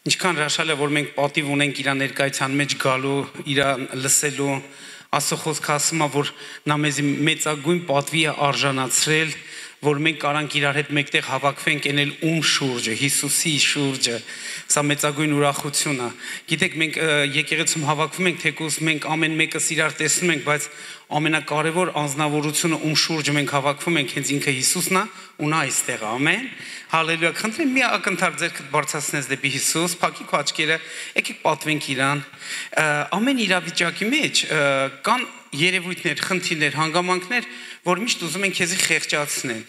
Ինչքան հրաշալի է, որ մենք պատիվ ունենք իր ներկայության մեջ գալու, իր լսելու, Աստծո խոսքը ասում է, որ նա մեզ մեծագույն պատվի է արժանացրել, որ մենք կարանք իրար հետ մեկտեղ հավաքվենք ենել շուրջը, Հիսուսի շուրջը, սա մեծագույն ուրախություն է։ Գիտեք, մենք եկեղեցում հավաքվում ենք, թեկուզ մենք ամեն մեկս իրար տեսնում ենք, բայց ամենակարևոր անձնավորությունը շուրջը մենք հավաքվում ենք, հենց ինքը Հիսուսն է, ու նա այստեղ է, ամեն։ Հալելույա, խնդրեմ մի ակնթարթ ձեռքդ բարձրացնես դեպի Հիսուս, փակի քո աչքերը, եկեք պատվենք իրան։ Ամեն իրավիճակի մեջ կան երևույթներ, խնդիրներ, հանգամանքներ, որ միշտ ուզում են քեզի խեղճացնել։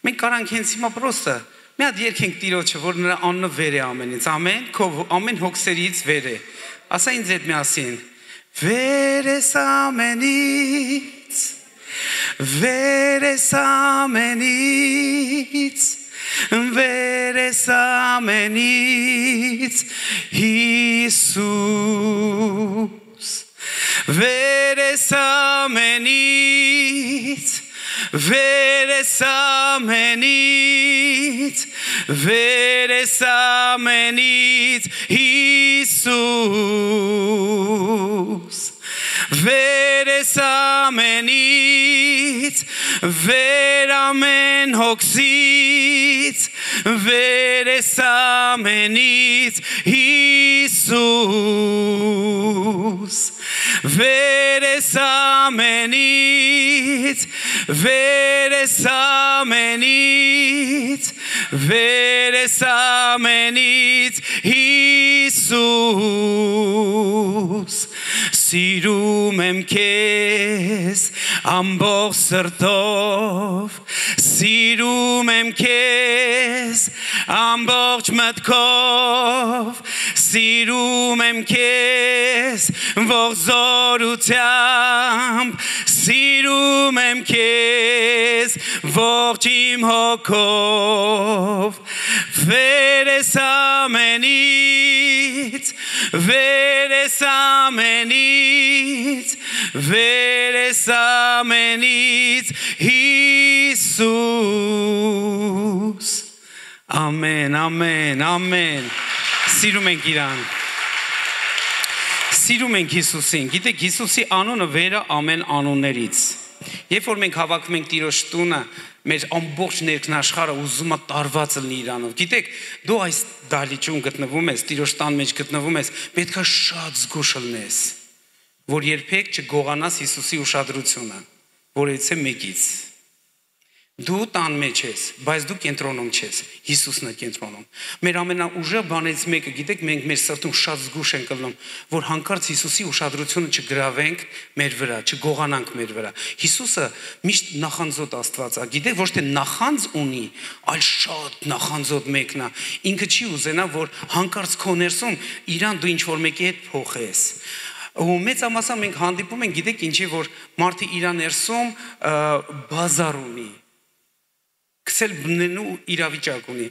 Մենք կարանք հենց հիմա պրոստը մի հատ երգենք Տիրոջը, որ նրա անունը վեր է ամենից, ամեն, քո ամեն հոգսերից վեր է։ Ասա ինձ հետ միասին. Վեր ես ամենից, վեր ես ամենից, վեր ես ամենից, Հիսուս, վեր ես ամենից, վեր ես ամենից, վեր ես ամենից, Հիսուս, վեր ես ամենից, վեր ամեն հոգսից, վեր ես ամենից, Հիսուս, վեր ես ամենից, վեր ես ամենից, վեր ես ամենից, Հիսուս, սիրում եմ քեզ ամբողջ սրտով, սիրում եմ քեզ ամբողջ մտքով, սիրում եմ քեզ ողջ զորությամբ, սիրում եմ քեզ ողջ իմ հոգով, վեր ես ամենից, վեր ես ամենից, վեր ես ամենից, Հիսուս, ամեն, ամեն, ամեն, սիրում ենք իրան, սիրում ենք Հիսուսին, գիտեք Հիսուսի անունը վերը ամեն անուններից, երբ որ մենք հավաքվում ենք Տիրոջ տունը, մեր ամբողջ ներքնաշխարհը ուզում է տարված լինի իրանով, գիտեք դու այս դահլիճում գտնվում ես, Տիրոջ տան մեջ գտնվում ես, պետք է շատ զգուշ լինես, որ երբեք չգողանաս Հիսուսի ուշադրությունը, որից է մեկից, դու տան մեջ ես, բայց դու կենտրոնում չես, Հիսուսն է կենտրոնում, մեր ամենաուժեղ բաներից մեկը, գիտեք մենք մեր սրտում շատ զգուշ ենք լինում, որ հանկարծ Հիսուսի ուշադրությունը չգրավենք մեր վրա, չգողանանք մեր վրա, Հիսուսը միշտ նախանձոտ Աստված է, գիտեք ոչ թե նախանձ ունի, այլ շատ նախանձոտ մեկն է, ինքը չի ուզենա, որ հանկարծ քո ներսում իրան դու ինչ-որ մեկի հետ փոխես, ու մեծամասամբ մենք հանդիպում ենք, գիտեք ինչի, որ մարդը իր ներսում բազար ունի, քսել բնելու իրավիճակ ունի,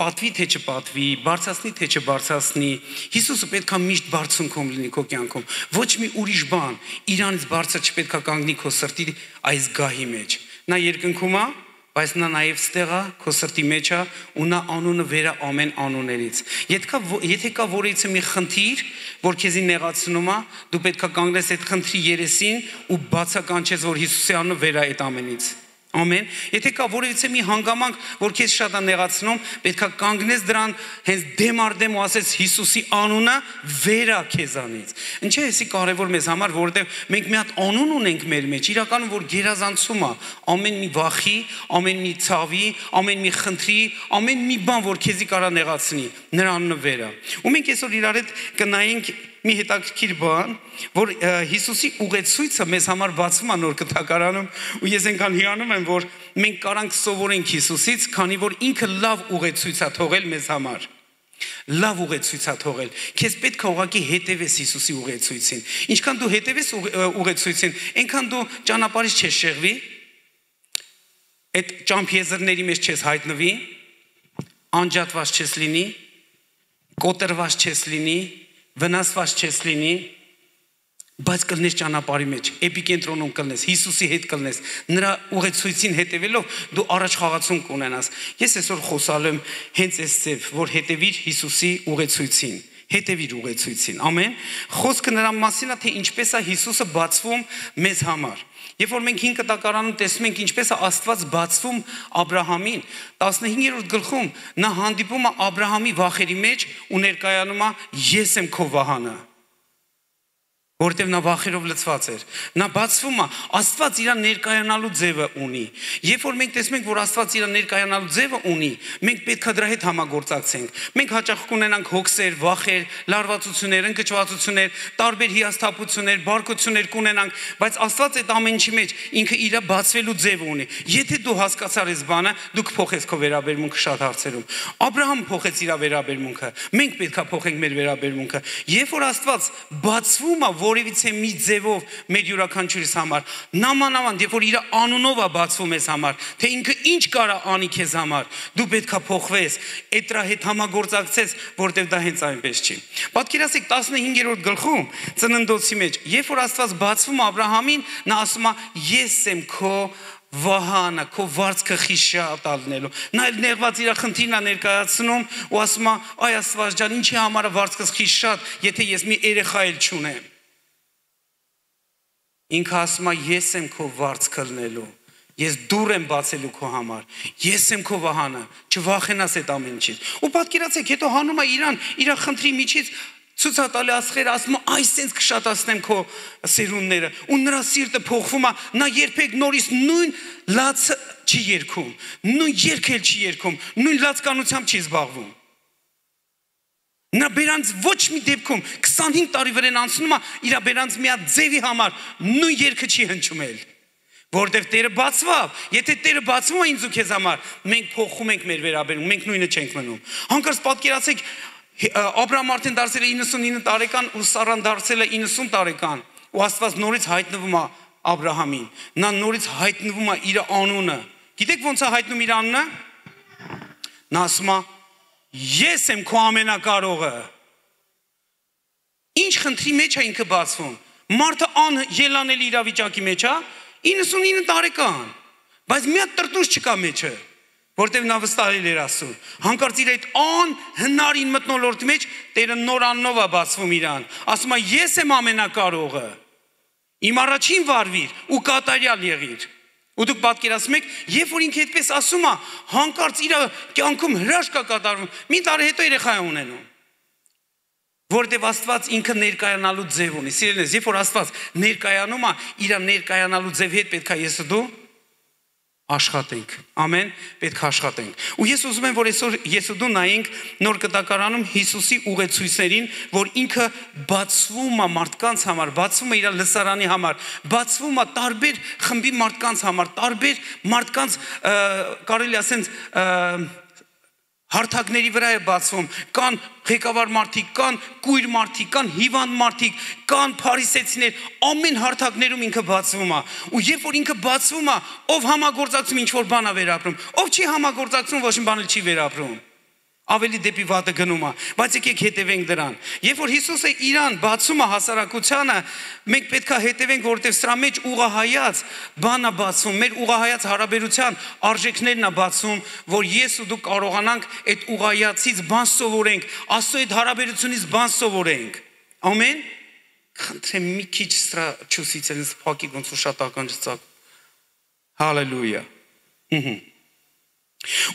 պատվի թե չպատվի, բարձրացնի թե չբարձրացնի, Հիսուսը պետք է միշտ բարձունքում լինի քո կյանքում, ոչ մի ուրիշ բան, իրանից բարձր չպետք է կանգնի քո սրտի այս գահի մեջ, նա երկնքում է, բայց նա նաև ստեղ է, քո սրտի մեջ է, ու նա անունը վեր է ամեն անուններից, եթե կա որից մի խնդիր, որ քեզի նեղացնում է, դու պետք է կանգնես այդ խնդրի երեսին ու բացականչես, որ Հիսուսի անունը վեր է այդ ամենից, ամեն, եթե կա որևիցե մի հանգամանք, որ քեզ շատ է նեղացնում, պետք է կանգնես դրան հենց դեմ առ դեմ ու ասես Հիսուսի անունը վեր է քեզանից, ինչ է էսի կարևոր մեզ համար, որովհետև մենք մի հատ անուն ունենք մեր մեջ, իրականում որ գերազանցում է ամեն մի վախի, ամեն մի ցավի, ամեն մի խնդրի, ամեն մի բան, որ քեզի կարա նեղացնի, նրա անունը վեր է, ու մենք այսօր իրար հետ կնայենք մի հետաքրքիր բան, որ Հիսուսի ուղեցույցը մեզ համար բացվում է նոր կտակարանում ու ես այնքան հիանում եմ, որ մենք կարանք սովորենք Հիսուսից, քանի որ ինքը լավ ուղեցույց է թողել մեզ համար, լավ ուղեցույց է թողել, քեզ պետք է ուղղակի հետևես Հիսուսի ուղեցույցին, ինչքան դու հետևես ուղեցույցին, այնքան դու ճանապարհից չես շեղվի, այդ ճամփեզրների մեջ չես հայտնվի, անջատված չես լինի, կոտրված չես լինի, վնասված չես լինի, բայց կլնես ճանապարհի մեջ, էպիկենտրոնում կլնես, Հիսուսի հետ կլնես, նրա ուղեցույցին հետևելով դու առաջ խաղացում կունենաս։ Ես այսօր խոսալու եմ հենց այս ձև, որ հետևիր Հիսուսի ուղեցույցին, հետևիր ուղեցույցին։ Ամեն։ Խոսքը նրա մասին է, թե ինչպես է Հիսուսը բացվում մեզ համար։ Երբ որ մենք 5 կտակարանում տեսնում ենք ինչպես է Աստված բացվում Աբրահամին, 15-րդ գլխում նա հանդիպում է Աբրահամի վախերի մեջ ու ներկայանում է ես եմ քո վահանը, որտեղ նա վախերով լցված էր։ Նա բացվում է, Աստված իր ներկայանալու ձևը ունի։ Երբ որ մենք տեսնում ենք, որ Աստված իր ներկայանալու ձևը ունի, մենք պետք է դրա հետ համագործակցենք։ Մենք հաճախ կունենանք հոգսեր, վախեր, լարվածություններ, ընկճվածություններ, տարբեր հիասթափություններ, բարկություններ կունենանք, բայց Աստված այդ ամեն ինչի մեջ ինքը իր բացվելու ձևը ունի։ Եթե դու հասկացար այս բանը, դու կփոխես քո վերաբերմունքը շատ հարցերում։ Աբրահամը փոխեց իր վերաբերմունքը։ Մենք պետք է փոխենք մեր վերաբերմունքը։ Երբ որ Աստված բացվում է որևիցե մի ձևով մեր յուրաքանչյուրիս համար, նամանավանդ երբ որ իր անունով է բացվում ես համար, թե ինքը ինչ կարա անի քեզ համար, դու պետքա փոխվես, այդ դրա հետ համագործակցես, որտեղ դա հենց այնպես չի։ Պատկերացրեք 15-րդ գլխում ծննդոցի մեջ, երբ որ Աստված բացվում Աբրահամին, նա ասում է ես եմ քո վահանը, քո վարձքը խիշատ ալնելու։ Նա էլ նեղված իր խնդիրն է ներկայացնում ու ասում է այ Աստված ջան, ինչի համար է վարձքս խիշատ, եթե ես մի երեխա էլ չունեմ։ Ինքը ասում է ես եմ քո վարձքը լնելու, ես դուռ եմ բացելու քո համար, ես եմ քո վահանը, չվախենաս այդ ամեն ինչից։ Ու պատկերացեք, հետո հանում է իրան, իր խնդրի միջից ցուցատալի ասխերը ասում է այս sense կշատացնեմ քո սերունդները, ու նրա սիրտը փոխվում է, նա երբեք նորից նույն լացը չի երգում, նույն երգել չի երգում, նույն լացկանությամբ չի զբաղվում։ Նա բերանց ոչ մի դեպքում 25 տարի վրան անցնում է իր բերանց մի հատ ձևի համար նույն երգը չի հնչումել, որտեղ Տերը բացվավ, եթե Տերը բացվում է ինձ ու քեզ համար, մենք փոխում ենք մեր վերաբերմունքը, մենք նույնը չենք մնում։ Հանկարծ պատկերացեք Աբրահամ արդեն դարձել է 99 տարեկան ու Սարան դարձել է 90 տարեկան ու Աստված նորից հայտնվում է Աբրահամին, նա նորից հայտնվում է իր անունը։ Գիտեք ոնց է հայտնում իր անունը։ Նա ասում է ես եմ քո ամենակարողը։ Ինչ խնդրի մեջ է ինքը բացվում։ Մարդը ելանելի իրավիճակի մեջ է, 99 տարեկան, բայց մի հատ տրտուս չկա մեջը, որտեղ նա վստահել էր Աստծուն։ Հանկարծ իր այդ անհնարին մթնոլորտի մեջ Տերը նոր անունով է բացվում իրան։ Ասում է ես եմ ամենակարողը։ Իմ առաջին վարվիր ու կատարյալ եղիր։ Ու դուք պատկերացնում եք, երբ որ ինքը այդպես ասում է, հանկարծ իր կյանքում հրաշք է կատարվում, մի տարի հետո երեխա է ունենում։ Որտեղ Աստված ինքը ներկայանալու ձև ունի։ Սիրելիներ, երբ որ Աստված ներկայանում է, իր ներկայանալու ձև հետ պետք է ես ու դու աշխատենք։ Ամեն, պետք է աշխատենք։ Ու ես ուզում եմ, որ այսօր ես ու դու նայենք նոր կտակարանում Հիսուսի ուղեցույցներին, որ ինքը բացվում է մարդկանց համար, բացվում է իր լսարանի համար, բացվում է տարբեր խմբի մարդկանց համար, տարբեր մարդկանց կարելի ասենց հարթակների վրա է բացվում, կան ղեկավար մարդիկ, կան կույր մարդիկ, կան հիվանդ մարդիկ, կան փարիսեցիներ, ամեն հարթակներում ինքը բացվում է։ Ու երբ որ ինքը բացվում է, ով համագործակցում ինչ որ բան է վերապրում, ով չի համագործակցում, ոչ մի բան չի վերապրում։ Ավելի դեպի վատը գնում է, բայց եկեք հետևենք դրան։ Երբ որ Հիսուսը իրան բացում է հասարակությանը, մենք պետք է հետևենք, որովհետև սրա մեջ ուղղահայաց բան է բացվում, մեր ուղղահայաց հարաբերության արժեքներն է բացում, որ ես ու դու կարողանանք այդ ուղղահայացից բան սովորենք, Աստծո այդ հարաբերությունից բան սովորենք։ Ամեն։ Խնդրեմ մի քիչ սրա ճուսից ինձ փակի ոնց որ շատ ականջծակ։ Հալելույա։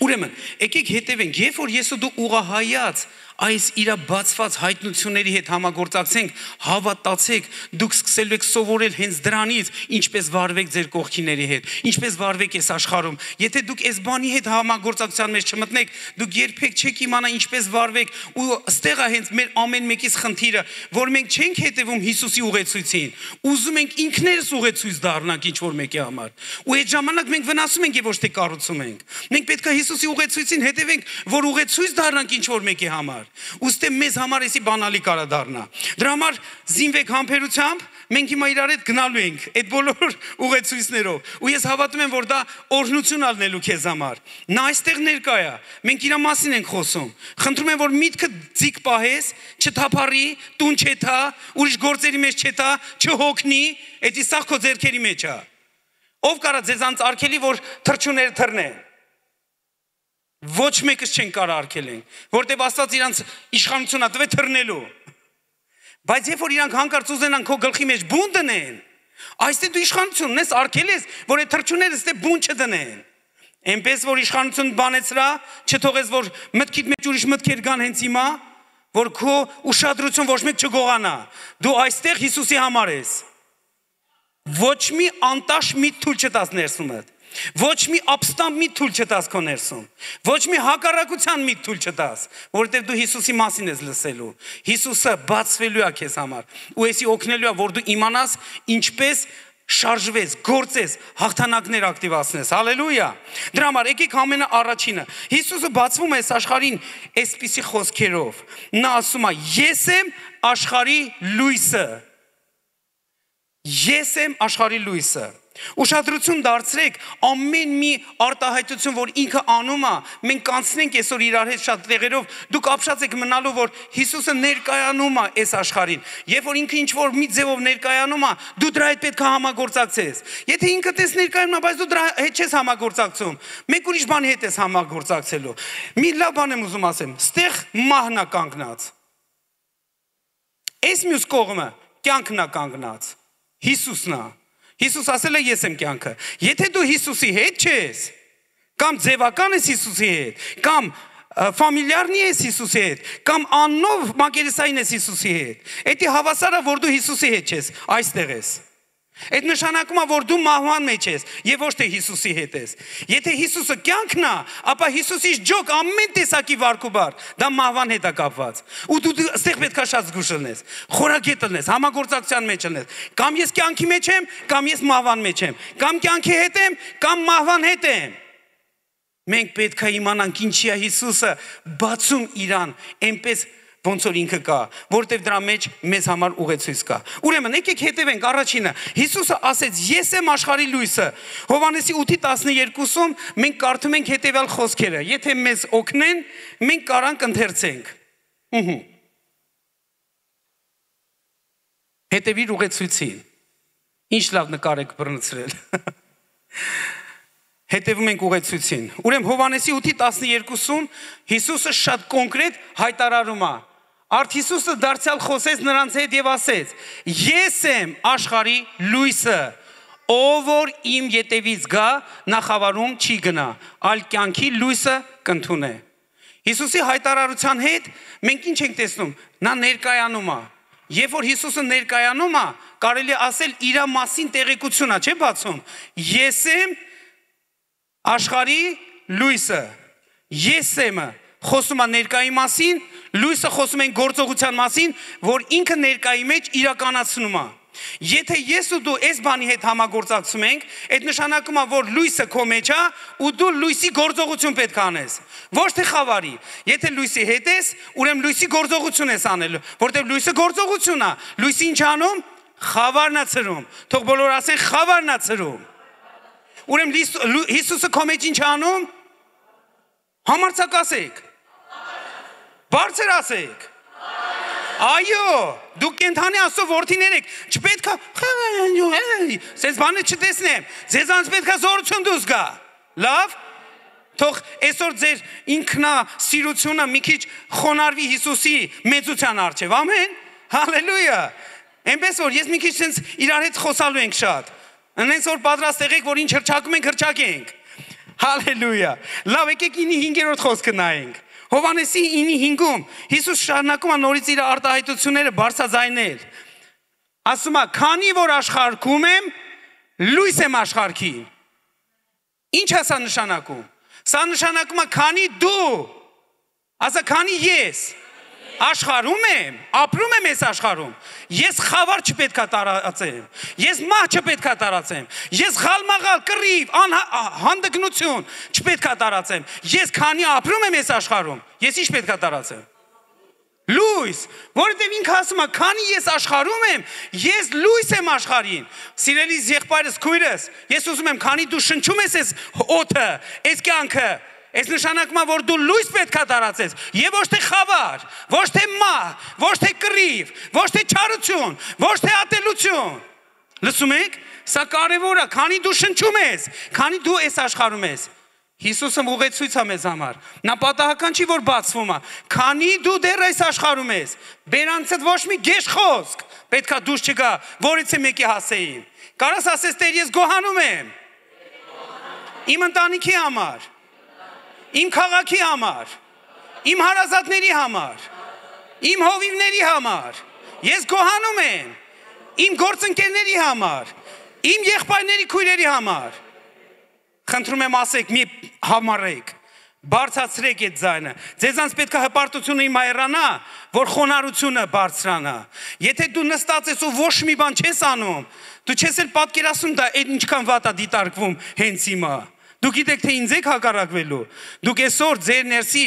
Ուրեմն, եկեք հետևենք, երբ որ ես ու դու ուղղահայաց այս իր բացված հայտնությունների հետ համագործակցենք, հավատացեք, դուք սկսելու եք սովորել հենց դրանից, ինչպես վարվեք ձեր կողքիների հետ, ինչպես վարվեք այս աշխարհում։ Եթե դուք այս բանի հետ համագործակցության մեջ չմտնեք, դուք երբեք չեք իմանա ինչպես վարվեք, ու ստեղ է հենց մեր ամեն մեկիս խնդիրը, որ մենք չենք հետևում Հիսուսի ուղեցույցին, ուզում ենք ինքներս ուղեցույց դառնանք ինչ որ մեկի համար։ Ու այդ ժամանակ մենք վնասում ենք եւ ոչ թե կառուցում ենք։ Մենք պետք է Հիսուսի ուղեցույցին հետևենք, որ ուղեցույց դառնանք ինչ որ մեկի համար։ Ուստի մեզ համար էսի բանալի կարա դառնա։ Դրա համար զինվեք համբերությամբ, մենք հիմա իրար հետ գնալու ենք այդ բոլոր ուղեցույցներով ու ես հավատում եմ որ դա օրհնություն ալնելու քեզ համար նա այստեղ ներկա է մենք իր մասին ենք խոսում խնդրում եմ որ միտքը ձիգ պահես չթափառի տուն չեթա ուրիշ գործերի մեջ չեթա չհոգնի այդ իսախ քո ձեռքերի մեջ է ով կարա ձեզանց արկելի որ թրջուները թռնեն ոչ մեկս չեն կարող արկելեն որտեղ Աստված իրանց իշխանությունա տվե թռնելու բայց երբ որ իրանք հանկարծ ուզենան քո գլխի մեջ բուն դնեն այստեղ դու իշխանություն ունես արկել ես որ այդ թրջուները ստե բուն չդնեն այնպես որ իշխանություն բանեցրա չթողես որ մտքիդ մեջ ուրիշ մտքեր գան հենց հիմա որ քո ուշադրություն ոչ մեկ չգողանա դու այստեղ Հիսուսի համար ես ոչ մի անտաշ մի թույլ չտաս ներսումդ ոչ մի ապստամբ մի թույլ չտաս քո ներսում ոչ մի հակառակության մի թույլ չտաս որովհետև դու Հիսուսի մասին ես լսելու Հիսուսը բացվելու է քեզ համար ու էսի օգնելու է որ դու իմանաս ինչպես շարժվես գործես հաղթանակներ ակտիվացնես հալելույա դրա համար եկեք ամենաառաջինը Հիսուսը բացվում է աշխարհին այսպիսի խոսքերով նա ասում է ես եմ աշխարհի լույսը ես եմ աշխարհի լույսը Ուշադրություն դարձրեք ամեն մի արտահայտություն որ ինքը անում է մենք կանցնենք այսօր իրար հետ շատ տեղերով դուք ապշած եք մնալու որ Հիսուսը ներկայանում է այս աշխարհին երբ որ ինքը ինչ որ մի ձևով ներկայանում է դու դրա հետ պետք է համագործակցես եթե ինքը տես ներկայանում է բայց դու դրա հետ չես համագործակցում մեկ ուրիշ բանի հետ ես համագործակցելու մի լավ բան եմ ուզում ասեմ ստեղ մահն է կանգնած այս մյուս կողմը կյանքն է կանգնած Հիսուսն է Հիսուս ասել է ես եմ կյանքը եթե դու Հիսուսի հետ չես կամ ձևական ես Հիսուսի հետ կամ ֆամիլիարնի ես Հիսուսի հետ կամ աննով մակերեսային ես Հիսուսի հետ դա հավասար է որ դու Հիսուսի հետ չես այստեղ ես այդ նշանակում է որ դու մահվան մեջ ես եւ ոչ թե Հիսուսի հետ ես եթե Հիսուսը կյանքն է ապա Հիսուսից ջոկ ամեն տեսակի վարքուբար դա մահվան հետ է կապված ու դու այստեղ պետք է շատ զգուշ լինես խորագետ լինես համագործակցության մեջ լինես կամ ես կյանքի մեջ եմ կամ ես մահվան մեջ եմ կամ կյանքի հետ եմ կամ մահվան հետ եմ մենք պետք է իմանանք ինչի է Հիսուսը բացում իրան այնպես ոնց որ ինքը կա, որտեվ դրա մեջ մեզ համար ուղեցույց կա։ Ուրեմն եկեք հետևենք առաջինը։ Հիսուսը ասեց. «Ես եմ աշխարհի լույսը»։ Հովհաննեսի 8:12-ում մենք կարդում ենք հետևյալ խոսքերը. եթե մեզ օգնեն, մենք կարանք ընթերցենք։ Հետևիր ուղեցույցին։ Ինչ լավ նկար եք բռնցրել։ Հետևում ենք ուղեցույցին։ Ուրեմն Հովհաննեսի 8:12-ում Հիսուսը շատ կոնկրետ հայտարարում է։ Արդ Հիսուսը դարձյալ խոսեց նրանց հետ եւ ասեց. «Ես եմ աշխարհի լույսը, ով որ իմ ետևից գա, նախավարում չի գնա, այլ կյանքի լույսը կընդունե»։ Հիսուսի հայտարարության հետ մենք ինչ ենք տեսնում։ Նա ներկայանում է։ Երբ որ Հիսուսը ներկայանում է, կարելի է ասել իր մասին տեղեկություն է, չէ՞ բացում։ Ես եմ աշխարհի լույսը։ Ես եմ խոսում է ներկայի մասին, լույսը խոսում են գործողության մասին, որ ինքը ներկայի մեջ իրականացնում է։ Եթե ես ու դու այս բանի հետ համագործակցում ենք, այդ նշանակում է, որ լույսը քո մեջ է ու դու լույսի գործողություն պետք է անես։ Ոչ թե խավարի։ Եթե լույսի հետ ես, ուրեմն լույսի գործողություն ես անելու, որտեղ լույսը գործողություն է։ Լույսը ինչ անում։ Խավարն է ցրում։ Թող բոլորը ասեն խավարն է ցրում։ Ուրեմն Հիսուսը քո մեջ ինչ անում։ Համարձակ ասեք։ Բարձր ասեք։ Այո, դուք կենթանի Աստծո որդիներ եք, չպետք է սենց բանը չտեսնեմ, ձեզանց պետք է զորություն դուրս գա, լավ, թող այսօր ձեր ինքնասիրությունը մի քիչ խոնարհվի Հիսուսի մեծության առջև, ամեն, հալելույա, այնպես որ ես մի քիչ սենց իրար հետ խոսալու ենք շատ, այնպես որ պատրաստ եղեք, որ ինչ հրճակում ենք, հրճակենք, հալելույա, լավ, եկեք 9:5 խոսքը նայենք, Հովհաննեսի 9:5-ում Հիսուս շարունակում է նորից իր արտահայտությունները բարձրաձայնել։ Ասում է. «Քանի որ աշխարհքում եմ, լույս եմ աշխարհին»։ Ինչ է սա նշանակում։ Սա նշանակում է քանի դու, ասա քանի ես աշխարհում եմ, ապրում եմ այս աշխարհում, ես խավար չպետք է տարածեմ, ես մահ չպետք է տարածեմ, ես խալմաղալ, կռիվ, հանդգնություն չպետք է տարածեմ, ես քանի ապրում եմ այս աշխարհում, ես ինչ պետք է տարածեմ։ Լույս, որովհետև ինքը ասում է, քանի ես աշխարհում եմ, ես լույս եմ աշխարհին։ Սիրելիս եղբայրս, քույրս, ես ուզում եմ, քանի դու շնչում ես այս օդը, այս կյանքը, այս նշանակում է, որ դու լույս պետք է տարածես, եւ ոչ թե խավար, ոչ թե մահ, ոչ թե կռիվ, ոչ թե չարություն, ոչ թե ատելություն։ Լսում եք, սա կարևոր է, քանի դու շնչում ես, քանի դու այս աշխարհում ես։ Հիսուսը ուղեցույց է մեզ համար։ Նա պատահական չի, որ բացվում է։ Քանի դու դեռ այս աշխարհում ես, բերանցդ ոչ մի գեշ խոսք պետքա դուրս չգա, որից է մեկի հասեին։ Կարաս ասես, Տեր, ես գոհանում եմ։ Իմ ընտանիքի համար, իմ քաղաքի համար, իմ հարազատների համար, իմ հովիվների համար, ես գոհանում եմ, իմ գործընկերների համար, իմ եղբայրների քույրերի համար։ Խնդրում եմ ասեք, մի համարեք, բարձրացրեք այդ ձայնը։ Ձեզանց պետք է հպարտությունը իմայրանա, որ խոնարհությունը բարձրանա։ Եթե դու նստած ես ու ոչ մի բան չես անում, դու չես էլ պատկերացնում դա այդ ինչքան վատ է դիտարկվում հենց հիմա։ Դուք գիտեք, թե ինձ եք հակառակվելու։ Դուք այսօր ձեր ներսի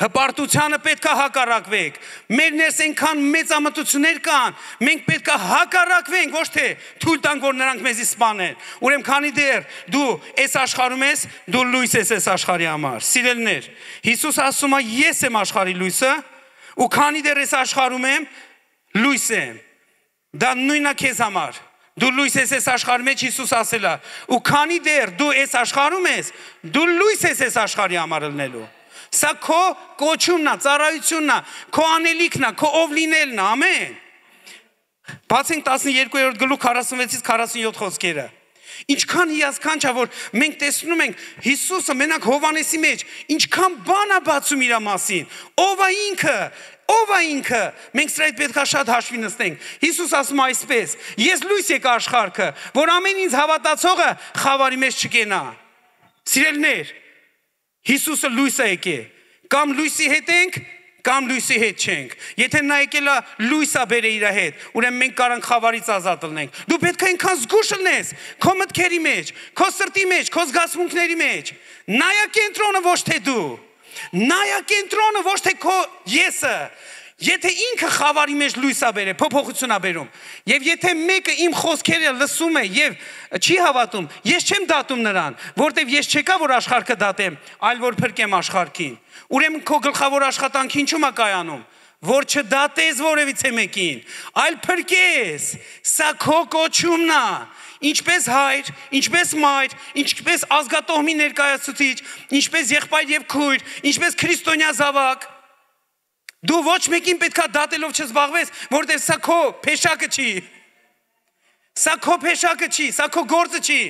հպարտությանը պետք է հակառակվեք։ Մեր ներս այնքան մեծամտություններ կան, մենք պետք է հակառակվենք, ոչ թե թույլ տանք, որ նրանք մեզի սպանեն։ Ուրեմն քանի դեռ դու այս աշխարհում ես, դու լույս ես այս աշխարհի համար։ Սիրելիներ, Հիսուս ասում է, ես եմ աշխարհի լույսը, ու քանի դեռ այս աշխարհում եմ, լույս եմ։ Դա նույնն է քեզ համար։ Դու լույս ես այս աշխարհի մեջ, Հիսուս ասել է, ու քանի դեռ դու այս աշխարհում ես, դու լույս ես այս աշխարհի համար ելնելու։ Սա քո կոչումն է, ծառայությունն է, քո անելիքն է, քո ով լինելն է, ամեն։ Բացենք 12-րդ գլուխ 46-ից 47 խոսքերը։ Ինչքան հիասքանչ է, որ մենք տեսնում ենք Հիսուսը մենակ Հովհաննեսի մեջ ինչքան բան է բացում իր մասին։ Ով է ինքը։ Ով է ինքը։ Մենք սրա հետ պետք է շատ հաշվի նստենք։ Հիսուս ասում է այսպես. ես լույս եկա աշխարհքը, որ ամեն ինձ հավատացողը խավարի մեջ չկենա։ Սիրելիներ, Հիսուսը լույս է եկել։ Կամ լույսի հետ ենք, կամ լույսի հետ չենք։ Եթե նա եկել է լույսը բերե իր հետ, ուրեմն մենք կարանք խավարից ազատ լինենք։ Դու պետք է այնքան զգուշ լինես քո մտքերի մեջ, քո սրտի մեջ, քո զգացմունքների մեջ։ Նայա կենտրոնը ոչ թե դու։ Նայա կենտրոնը ոչ թե քո եսը։ Եթե ինքը խավարի մեջ լույս է բերել, փոփոխություն է բերում, եւ եթե մեկը իմ խոսքերը լսում է եւ չի հավատում, ես չեմ դատում նրան, որտեւ ես չեկա որ աշխարհը դատեմ, այլ որ փրկեմ աշխարհին։ Ուրեմն քո գլխավոր աշխատանքը ինչու՞մ է կայանում, որ չդատես որևիցե մեկին, այլ փրկես։ Սա քո կոչումն է։ Ինչպես հայր, ինչպես մայր, ինչպես ազգատոհմի ներկայացուցիչ, ինչպես եղբայր եւ քույր, ինչպես քրիստոնյա զավակ։ Դու ոչ մեկին պետքա դատելով չզբաղվես, որտեղ սա քո փեշակը չի։ Սա քո փեշակը չի, սա քո գործը չի։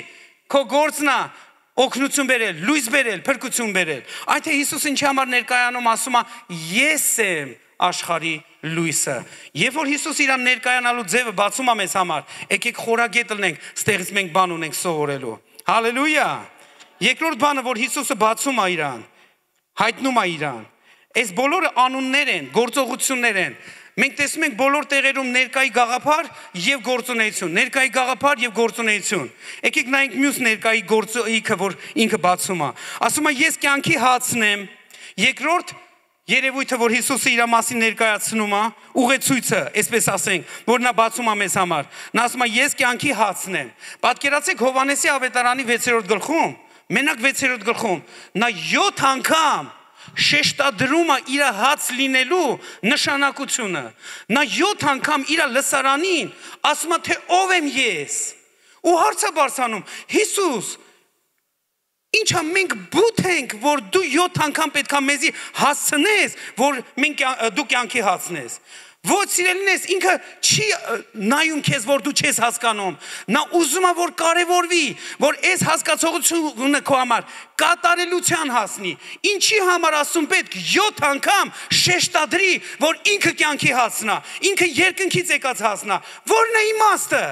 Քո գործն է օգնություն բերել, լույս բերել, փրկություն բերել։ Այդ է Հիսուսը ինչի համար ներկայանում ասում է, ես եմ աշխարհի լույսը։ Երբ որ Հիսուս իր ներկայանալու ձևը բացում է մեզ համար, եկեք խորագետ լինենք, ստեղից մենք բան ունենք սովորելու։ Հալելույա։ Երկրորդ բանը, որ Հիսուսը բացում է իրան, հայտնում է իրան։ Այս բոլորը անուններ են, գործողություններ են։ Մենք տեսնում ենք բոլոր տեղերում ներկայի գաղափար եւ գործունեություն, ներկայի գաղափար եւ գործունեություն։ Եկեք նայենք մյուս ներկայի գործիքը, որ ինքը բացում է։ Ասում է ես կյանքի հացն եմ։ Երկրորդ երևույթը, որ Հիսուսը իր մասին ներկայացնում է, ուղեցույցը, այսպես ասենք, որ նա բացում է մեզ համար։ Նա ասում է ես կյանքի հացն եմ։ Պատկերացեք Հովհաննեսի ավետարանի 6-րդ գլխում, մենակ 6-րդ գլխում, նա 7 անգամ շեշտադրում է իր հաց լինելու նշանակությունը։ Նա 7 անգամ իր լսարանին ասում է, թե ով եմ ես։ Ու հարց է բարձրանում, Հիսուս, ինչա մենք բութ ենք, որ դու 7 անգամ պետքա մեզի հասցնես, որ դու կյանքի հասցնես։ Ոչ սիրելինես, ինքը չի նայում քեզ, որ դու չես հասկանում։ Նա ուզում է, որ կարևորվի, որ այս հասկացողությունը քո համար կատարելության հասնի։ Ինչի համար ասում պետք 7 անգամ շեշտադրի, որ ինքը կյանքի հասնա, ինքը երկնքից եկած հասնա։ Որն է իմաստը։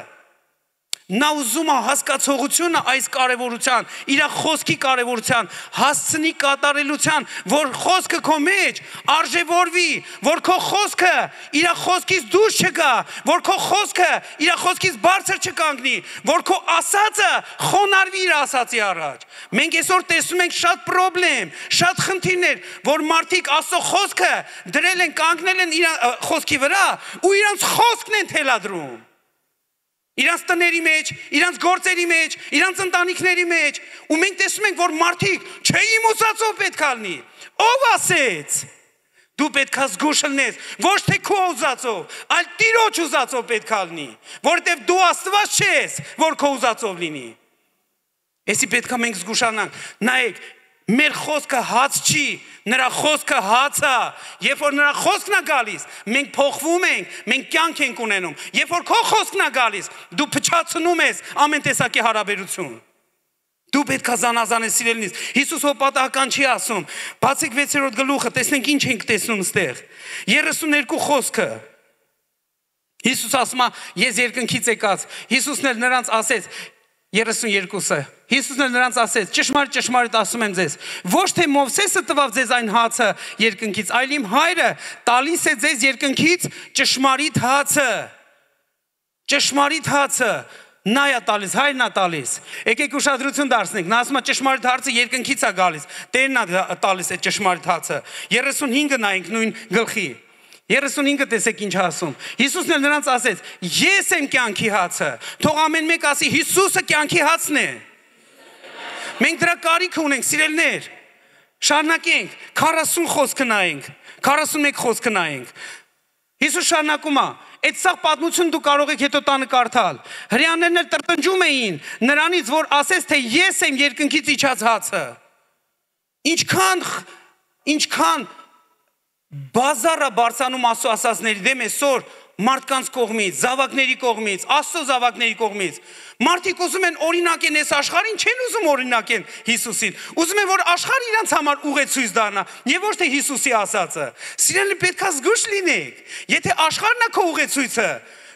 Նա ուզում է հասկացողությունը այս կարևորության, իր խոսքի կարևորության, հասցնի կատարելության, որ խոսքը քո մեջ արժևորվի, որ քո խոսքը իր խոսքից դուրս չգա, որ քո խոսքը իր խոսքից բարձր չկանգնի, որ քո ասածը խոնարհվի իր ասածի առաջ։ Մենք այսօր տեսնում ենք շատ խնդիրներ, շատ խնդիրներ, որ մարդիկ Աստծո խոսքը դրել են, կանգնել են իր խոսքի վրա ու իրանց խոսքն են թելադրում։ Իրանց տների մեջ, իրանց գործերի մեջ, իրանց ընտանիքների մեջ, ու մենք տեսնում ենք, որ մարդիկ չէ իմ ուզածով պետք է լինի։ Ով ասեց։ Դու պետք է զգուշ լինես, ոչ թե քո ուզածով, այլ Տիրոջ ուզածով պետք է լինի, որովհետև դու Աստված չես, որ քո ուզածով լինի։ Էսի պետք է մենք զգուշանանք։ Նայեք, մեր խոսքը հաց չի, նրա խոսքը հաց է, երբ որ նրա խոսքն է գալիս, մենք փոխվում ենք, մենք կյանք ենք ունենում, երբ որ քո խոսքն է գալիս, դու փչացնում ես ամեն տեսակի հարաբերություն։ Դու պետք է զանազանես սիրելինից։ Հիսուս հոպատական չի ասում, բացեք 6-րդ գլուխը, տեսնենք ինչ ենք տեսնում ստեղ։ 32 խոսքը։ Հիսուս ասում է, ես երկնքից եկած։ Հիսուսն էլ նրանց ասեց 32-ը։ Հիսուսն էլ նրանց ասեց. ճշմարիտ ասում եմ ձեզ, ոչ թե Մովսեսը տվավ ձեզ այն հացը երկնքից, այլ իմ Հայրը տալիս է ձեզ երկնքից ճշմարիտ հացը։ Ճշմարիտ հացը նա է տալիս, Հայրն է տալիս։ Եկեք ուշադրություն դարձնենք, նա ասում է ճշմարիտ հացը երկնքից է գալիս, Տերն է տալիս է ճշմարիտ հացը։ 35-ը նայենք նույն գլխի։ 35-ը տեսեք ինչ ասում։ Հիսուսն էլ նրանց ասեց. ես եմ կյանքի հացը։ Թող ամեն մեկ ասի Հիսուսը կյանքի հացն է։ Մենք դրա կարիք ունենք, սիրելիներ։ Շարունակենք, 40 խոսքը նայենք, 41 խոսքը նայենք։ Հիսուս շարունակում է. այդ սաղ պատմություն դու կարող եք հետո տանը կարդալ։ Հրեաներն էլ տրտնջում էին նրանից, որ ասեց, թե ես եմ երկնքից իջած հացը։ Ինչքան բազարա բարձանում Աստծո ասածների դեմ այսօր մարդկանց կողմից, զավակների կողմից, Աստծո զավակների կողմից։ Մարդիկ ուզում են օրինակեն այս աշխարհին, չեն ուզում օրինակեն Հիսուսին։ Ուզում են, որ աշխարհը իրանց համար ուղեցույց դառնա, եւ ոչ թե Հիսուսի ասածը։ Սիրելի, պետք է զգուշ լինեք։ Եթե աշխարհն է քո ուղեցույցը,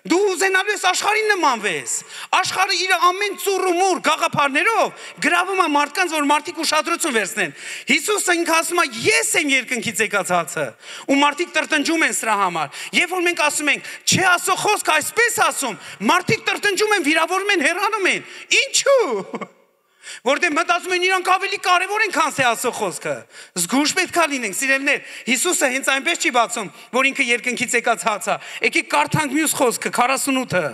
դու ուզենալու ես աշխարհին նմանվես։ Աշխարհը իր ամեն ծուռ ու մուռ գաղափարներով գրավում է մարդկանց, որ մարդիկ ուշադրություն վերցնեն։ Հիսուսը ինքը ասում է, ես եմ երկնքից եկած հացը, ու մարդիկ տրտնջում են սրա համար։ Երբ որ մենք ասում ենք, չէ, Աստծո խոսքը այսպես ասում, մարդիկ տրտնջում են, վիրավորում են, հեռանում են։ Ինչու՞։ Որտեղ մտածում են իրանք ավելի կարևոր են, քան Աստծո խոսքը։ Զգուշ պետք է լինենք, սիրելիներ։ Հիսուսը հենց այնպես չի բացում, որ ինքը երկնքից եկած հաց է։ Եկեք կարդանք մյուս խոսքը, 48-ը։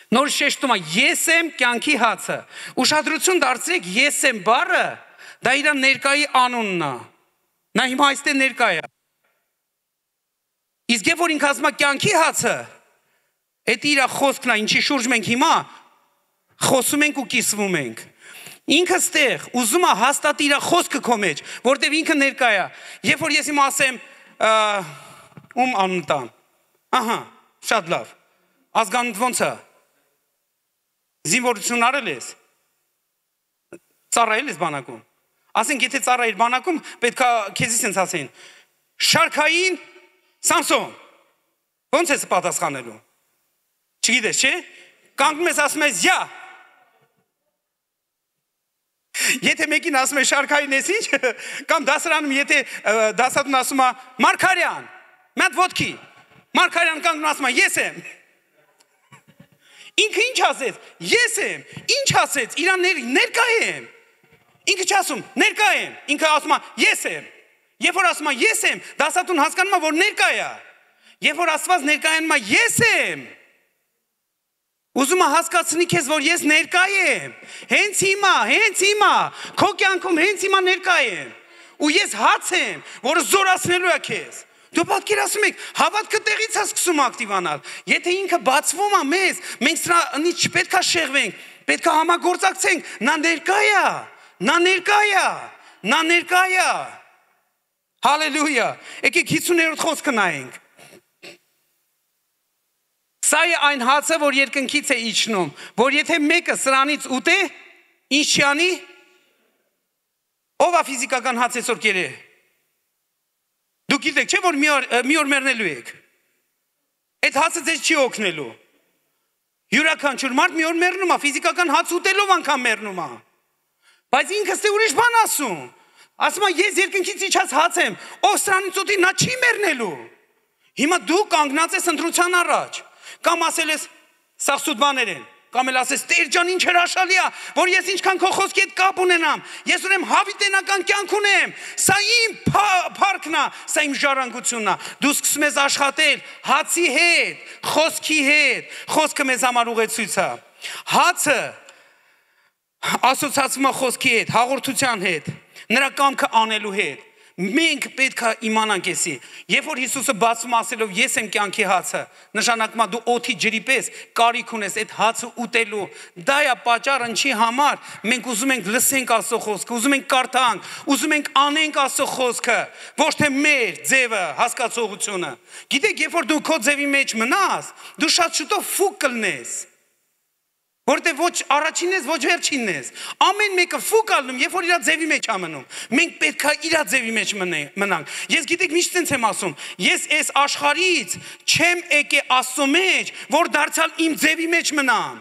Նոր շեշտում է, ես եմ կյանքի հացը։ Ուշադրություն դարձրեք, ես եմ բառը, դա իր ներկայի անունն է։ Նա հիմա այստեղ ներկա է։ Իսկ երբ որ ինքը ասում է կյանքի հացը, այդ իր խոսքն է, ինչի շուրջ մենք հիմա խոսում ենք ու կիսվում ենք։ Ինքը ստեղ ուզում է հաստատի իր խոսքը քո մեջ, որտեղ ինքը ներկա է։ Երբ որ ես հիմա ասեմ, ում անուն տամ։ Ահա, շատ լավ։ Ազգանունդ ո՞նց է։ Զինվորություն արել ես։ Ծառայել ես բանակում։ Ասենք, եթե ծառայիր բանակում, պետք է քեզի սենց ասեն։ Շարքային Սամսոն։ Ո՞նց ես պատասխանելու։ Չգիտես, չէ՞։ Կանգնում ես ասում ես, «Յա»։ Եթե մեկին ասում է շարքային ես ինչ, կամ դասարանում եթե դասատուն ասում է Մարգարյան, մի հատ ոտքի, Մարգարյան կանգնում ասում է ես եմ։ Ինքը ինչ ասեց, ես եմ, ինչ ասեց, իրան ներկա եմ։ Ինքը չասում, ներկա եմ, ինքը ասում է ես եմ։ Երբ որ ասում է ես եմ, դասատուն հասկանում է, որ ներկա է։ Երբ որ Աստված ներկայանում է ես եմ, ուզում է հասկացնի քեզ, որ ես ներկա եմ, հենց հիմա, քո կյանքում հենց հիմա ներկա եմ, ու ես հաց եմ, որը զորացնելու է քեզ։ Դու պատկերացնում եք, հավատքը տեղից է սկսում ակտիվանալ։ Եթե ինքը բացվում է մեզ, մենք սրանից չպետք է շեղվենք, պետք է համագործակցենք, նա ներկա է։ Հալելույա։ Եկեք 50-րդ խոսքը նայենք։ Սա է այն հացը, որ երկնքից է իջնում, որ եթե մեկը սրանից ուտե, ինչ չի անի։ Ով է ֆիզիկական հաց այսօր կերե։ Դուք գիտեք, չէ՞ որ մի օր մեռնելու եք։ Այդ հացը ձեզ չի օգնելու։ Յուրաքանչյուր մարդ մի օր մեռնում է, ֆիզիկական հաց ուտելով անգամ մեռնում է։ Բայց ինքս թե ուրիշ բան ասում։ Ասում է ես երկնքից իջած հաց եմ, ով սրանից ուտի նա չի մեռնելու։ Հիմա դու կանգնած ես ընտրության առաջ, կամ ասել ես սա սուտ բաներ են, կամ էլ ասես Տեր ջան ինչ հրաշալի է, որ ես ինչքան քո խոսքի հետ կապ ունենամ, ես ուրեմն հավիտենական կյանք ունեմ, սա իմ փառքն է, սա իմ ժառանգությունն է։ Դու սկսում ես աշխատել հացի հետ, խոսքի հետ, խոսքը մեզ համար ուղեցույց է։ Հացը ասոցացվում է խոսքի հետ, հաղորդության հետ, նրա կամքը անելու հետ։ Մենք պետք է իմանանք էսի։ Երբ որ Հիսուսը բացում ասելով ես եմ կյանքի հացը, նշանակում է դու օդի ջրի պես կարիք ունես այդ հացը ուտելու։ Դա է պատճառը ինչի համար մենք ուզում ենք լսենք Աստծո խոսքը, ուզում ենք կարդանք, ուզում ենք անենք Աստծո խոսքը, ոչ թե մեր ձևը, հասկացողությունը։ Գիտեք, երբ որ դու քո ձևի մեջ մնաս, դու շատ շուտով ֆուկ կլնես։ Որտե ոչ առաջինն ես, ոչ վերջինն ես։ Ամեն մեկը ֆուկ ալնում, երբ որ իր ձևի մեջ ամնում։ Մենք պետք է իր ձևի մեջ մնանք։ Ես գիտեք միշտ ցենց եմ ասում, ես այս աշխարհից չեմ եկել Աստծո մեջ, որ դարձյալ իմ ձևի մեջ մնամ։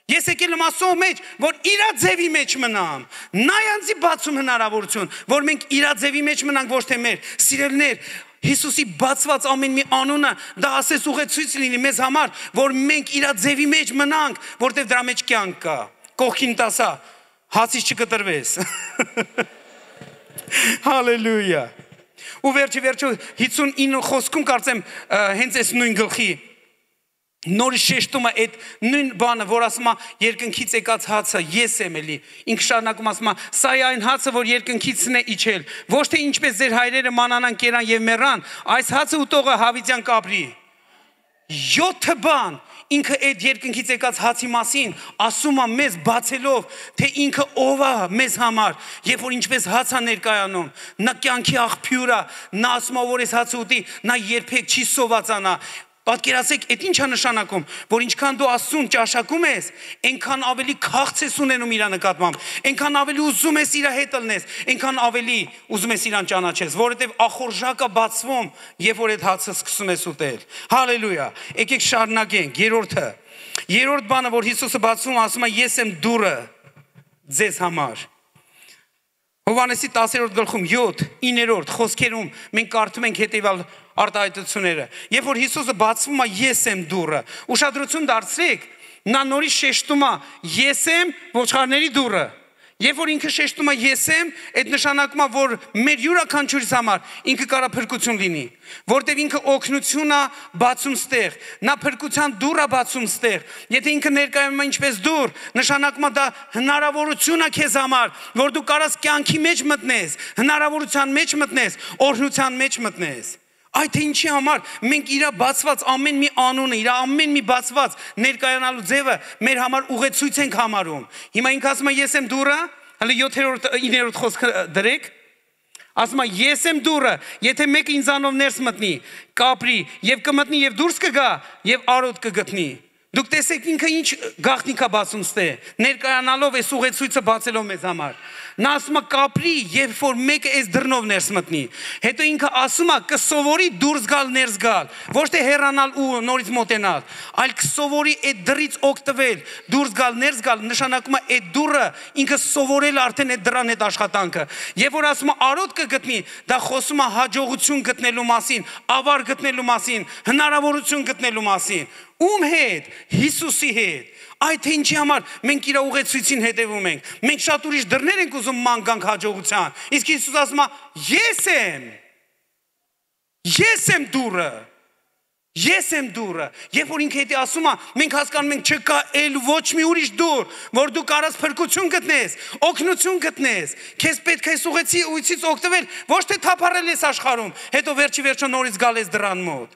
Ես եկել եմ Աստծո մեջ, որ իր ձևի մեջ մնամ։ Նա յանցի բացում հնարավորություն, որ մենք իր ձևի մեջ մնանք, ոչ թե մեր սիրելիներ։ Հիսուսի բացված ամեն մի անունը դա ասես ուղեցույց լինի մեզ համար, որ մենք իր ձևի մեջ մնանք, որտեղ դրա մեջ կյանք կա։ Կողքին տասա, հացից չկտրվես։ Հալելույա։ Ու վերջը 59 խոսքում կարծեմ հենց այս նույն գլխի նորից շեշտում է այդ նույն բանը, որ ասում է երկնքից եկած հացը ես եմ էլի։ Ինքը շարունակում ասում է սա է այն հացը, որ երկնքիցն է իջել։ Ոչ թե ինչպես ձեր հայրերը մանանան, կերան եւ մեռան, այս հացը ուտողը հավիտյան կապրի։ 7 բան ինքը այդ երկնքից եկած հացի մասին ասում է մեզ բացելով, թե ինքը ով է մեզ համար, երբ որ ինչպես հաց է ներկայանում, նա կյանքի աղբյուր է, նա ասում է որ այս հացը ուտի, նա երբեք չի սովածանա։ Պատկերացեք, այդ ինչ է նշանակում, որ ինչքան դու Աստծուն ճաշակում ես, այնքան ավելի քաղց ես ունենում իր նկատմամբ, այնքան ավելի ուզում ես իր հետ ելնես, այնքան ավելի ուզում ես իրան ճանաչես, որովհետև ախորժակը բացվում, երբ որ այդ հացը սկսում ես ուտել։ Հալելույա։ Եկեք շարունակենք։ Երրորդ բանը, որ Հիսուսը բացում, ասում է ես եմ դուռը ձեզ համար։ Հովհաննեսի 10-րդ գլխում 7-9-րդ խոսքերում մենք կարդում ենք հետևյալ արտահայտությունները։ Երբ որ Հիսուսը բացվում է ես եմ դուռը, ուշադրություն դարձրեք, նա նորից շեշտում է ես եմ ոչխարների դուռը։ Երբ որ ինքը շեշտում է ես եմ, այդ նշանակում է, որ մեր յուրաքանչյուրիս համար ինքը կարա փրկություն լինի, որտեղ ինքը օգնություն է բացում ստեղ, նա փրկության դուռ է բացում ստեղ։ Եթե ինքը ներկայանում է ինչպես դուռ, նշանակում է դա հնարավորություն է քեզ համար, որ դու կարաս կյանքի մեջ մտնես, հնարավորության մեջ մտնես, օրհնության մեջ մտնես։ Այդ ինչի համար մենք իր բացված ամեն մի անունը, իր ամեն մի բացված ներկայանալու ձևը մեր համար ուղեցույց ենք համարում։ Հիմա ինքը ասում է ես եմ դուռը, հələ 7-րդ 9-րդ խոսքը դրեք։ Ասում է ես եմ դուռը, եթե մեկը ինձանով ներս մտնի, կապրի եւ կմտնի եւ դուրս կգա եւ արոտ կգտնի։ Դուք տեսեք ինքը ինչ գաղտնիք է բացում ստե, ներկայանալով այս ուղեցույցը բացելով մեզ համար։ Նա ասում է կապրի, երբ որ մեկը այս դռնով ներս մտնի։ Հետո ինքը ասում է կսովորի դուրս գալ ներս գալ, ոչ թե հեռանալ ու նորից մոտենալ, այլ կսովորի այդ դռից օգտվել, դուրս գալ ներս գալ, նշանակում է այդ դուռը ինքը սովորել արդեն այդ դռան հետ աշխատանքը։ Երբ որ ասում է արոտ կգտնի, դա խոսում է հաջողություն գտնելու մասին, ավար գտնելու մասին, հնարավորություն գտնելու մասին։ Ում հետ? Հիսուսի հետ։ Այդ ինչի համար մենք իր ուղեցույցին հետևում ենք։ Մենք շատ ուրիշ դռներ ենք ուզում ման գանք հաջողության։ Իսկ Հիսուս ասում է ես եմ դուռը։ Ես եմ դուռը։ Երբ որ ինքը հետի ասում է, մենք հասկանում ենք չկա էլ ոչ մի ուրիշ դուռ, որ դու կարաս փրկություն գտնես, օգնություն գտնես։ Քեզ պետք է այս ուղեցույցից օգտվել, ոչ թե թափառել ես աշխարհում, հետո վերջի նորից գալ ես դռան մոտ։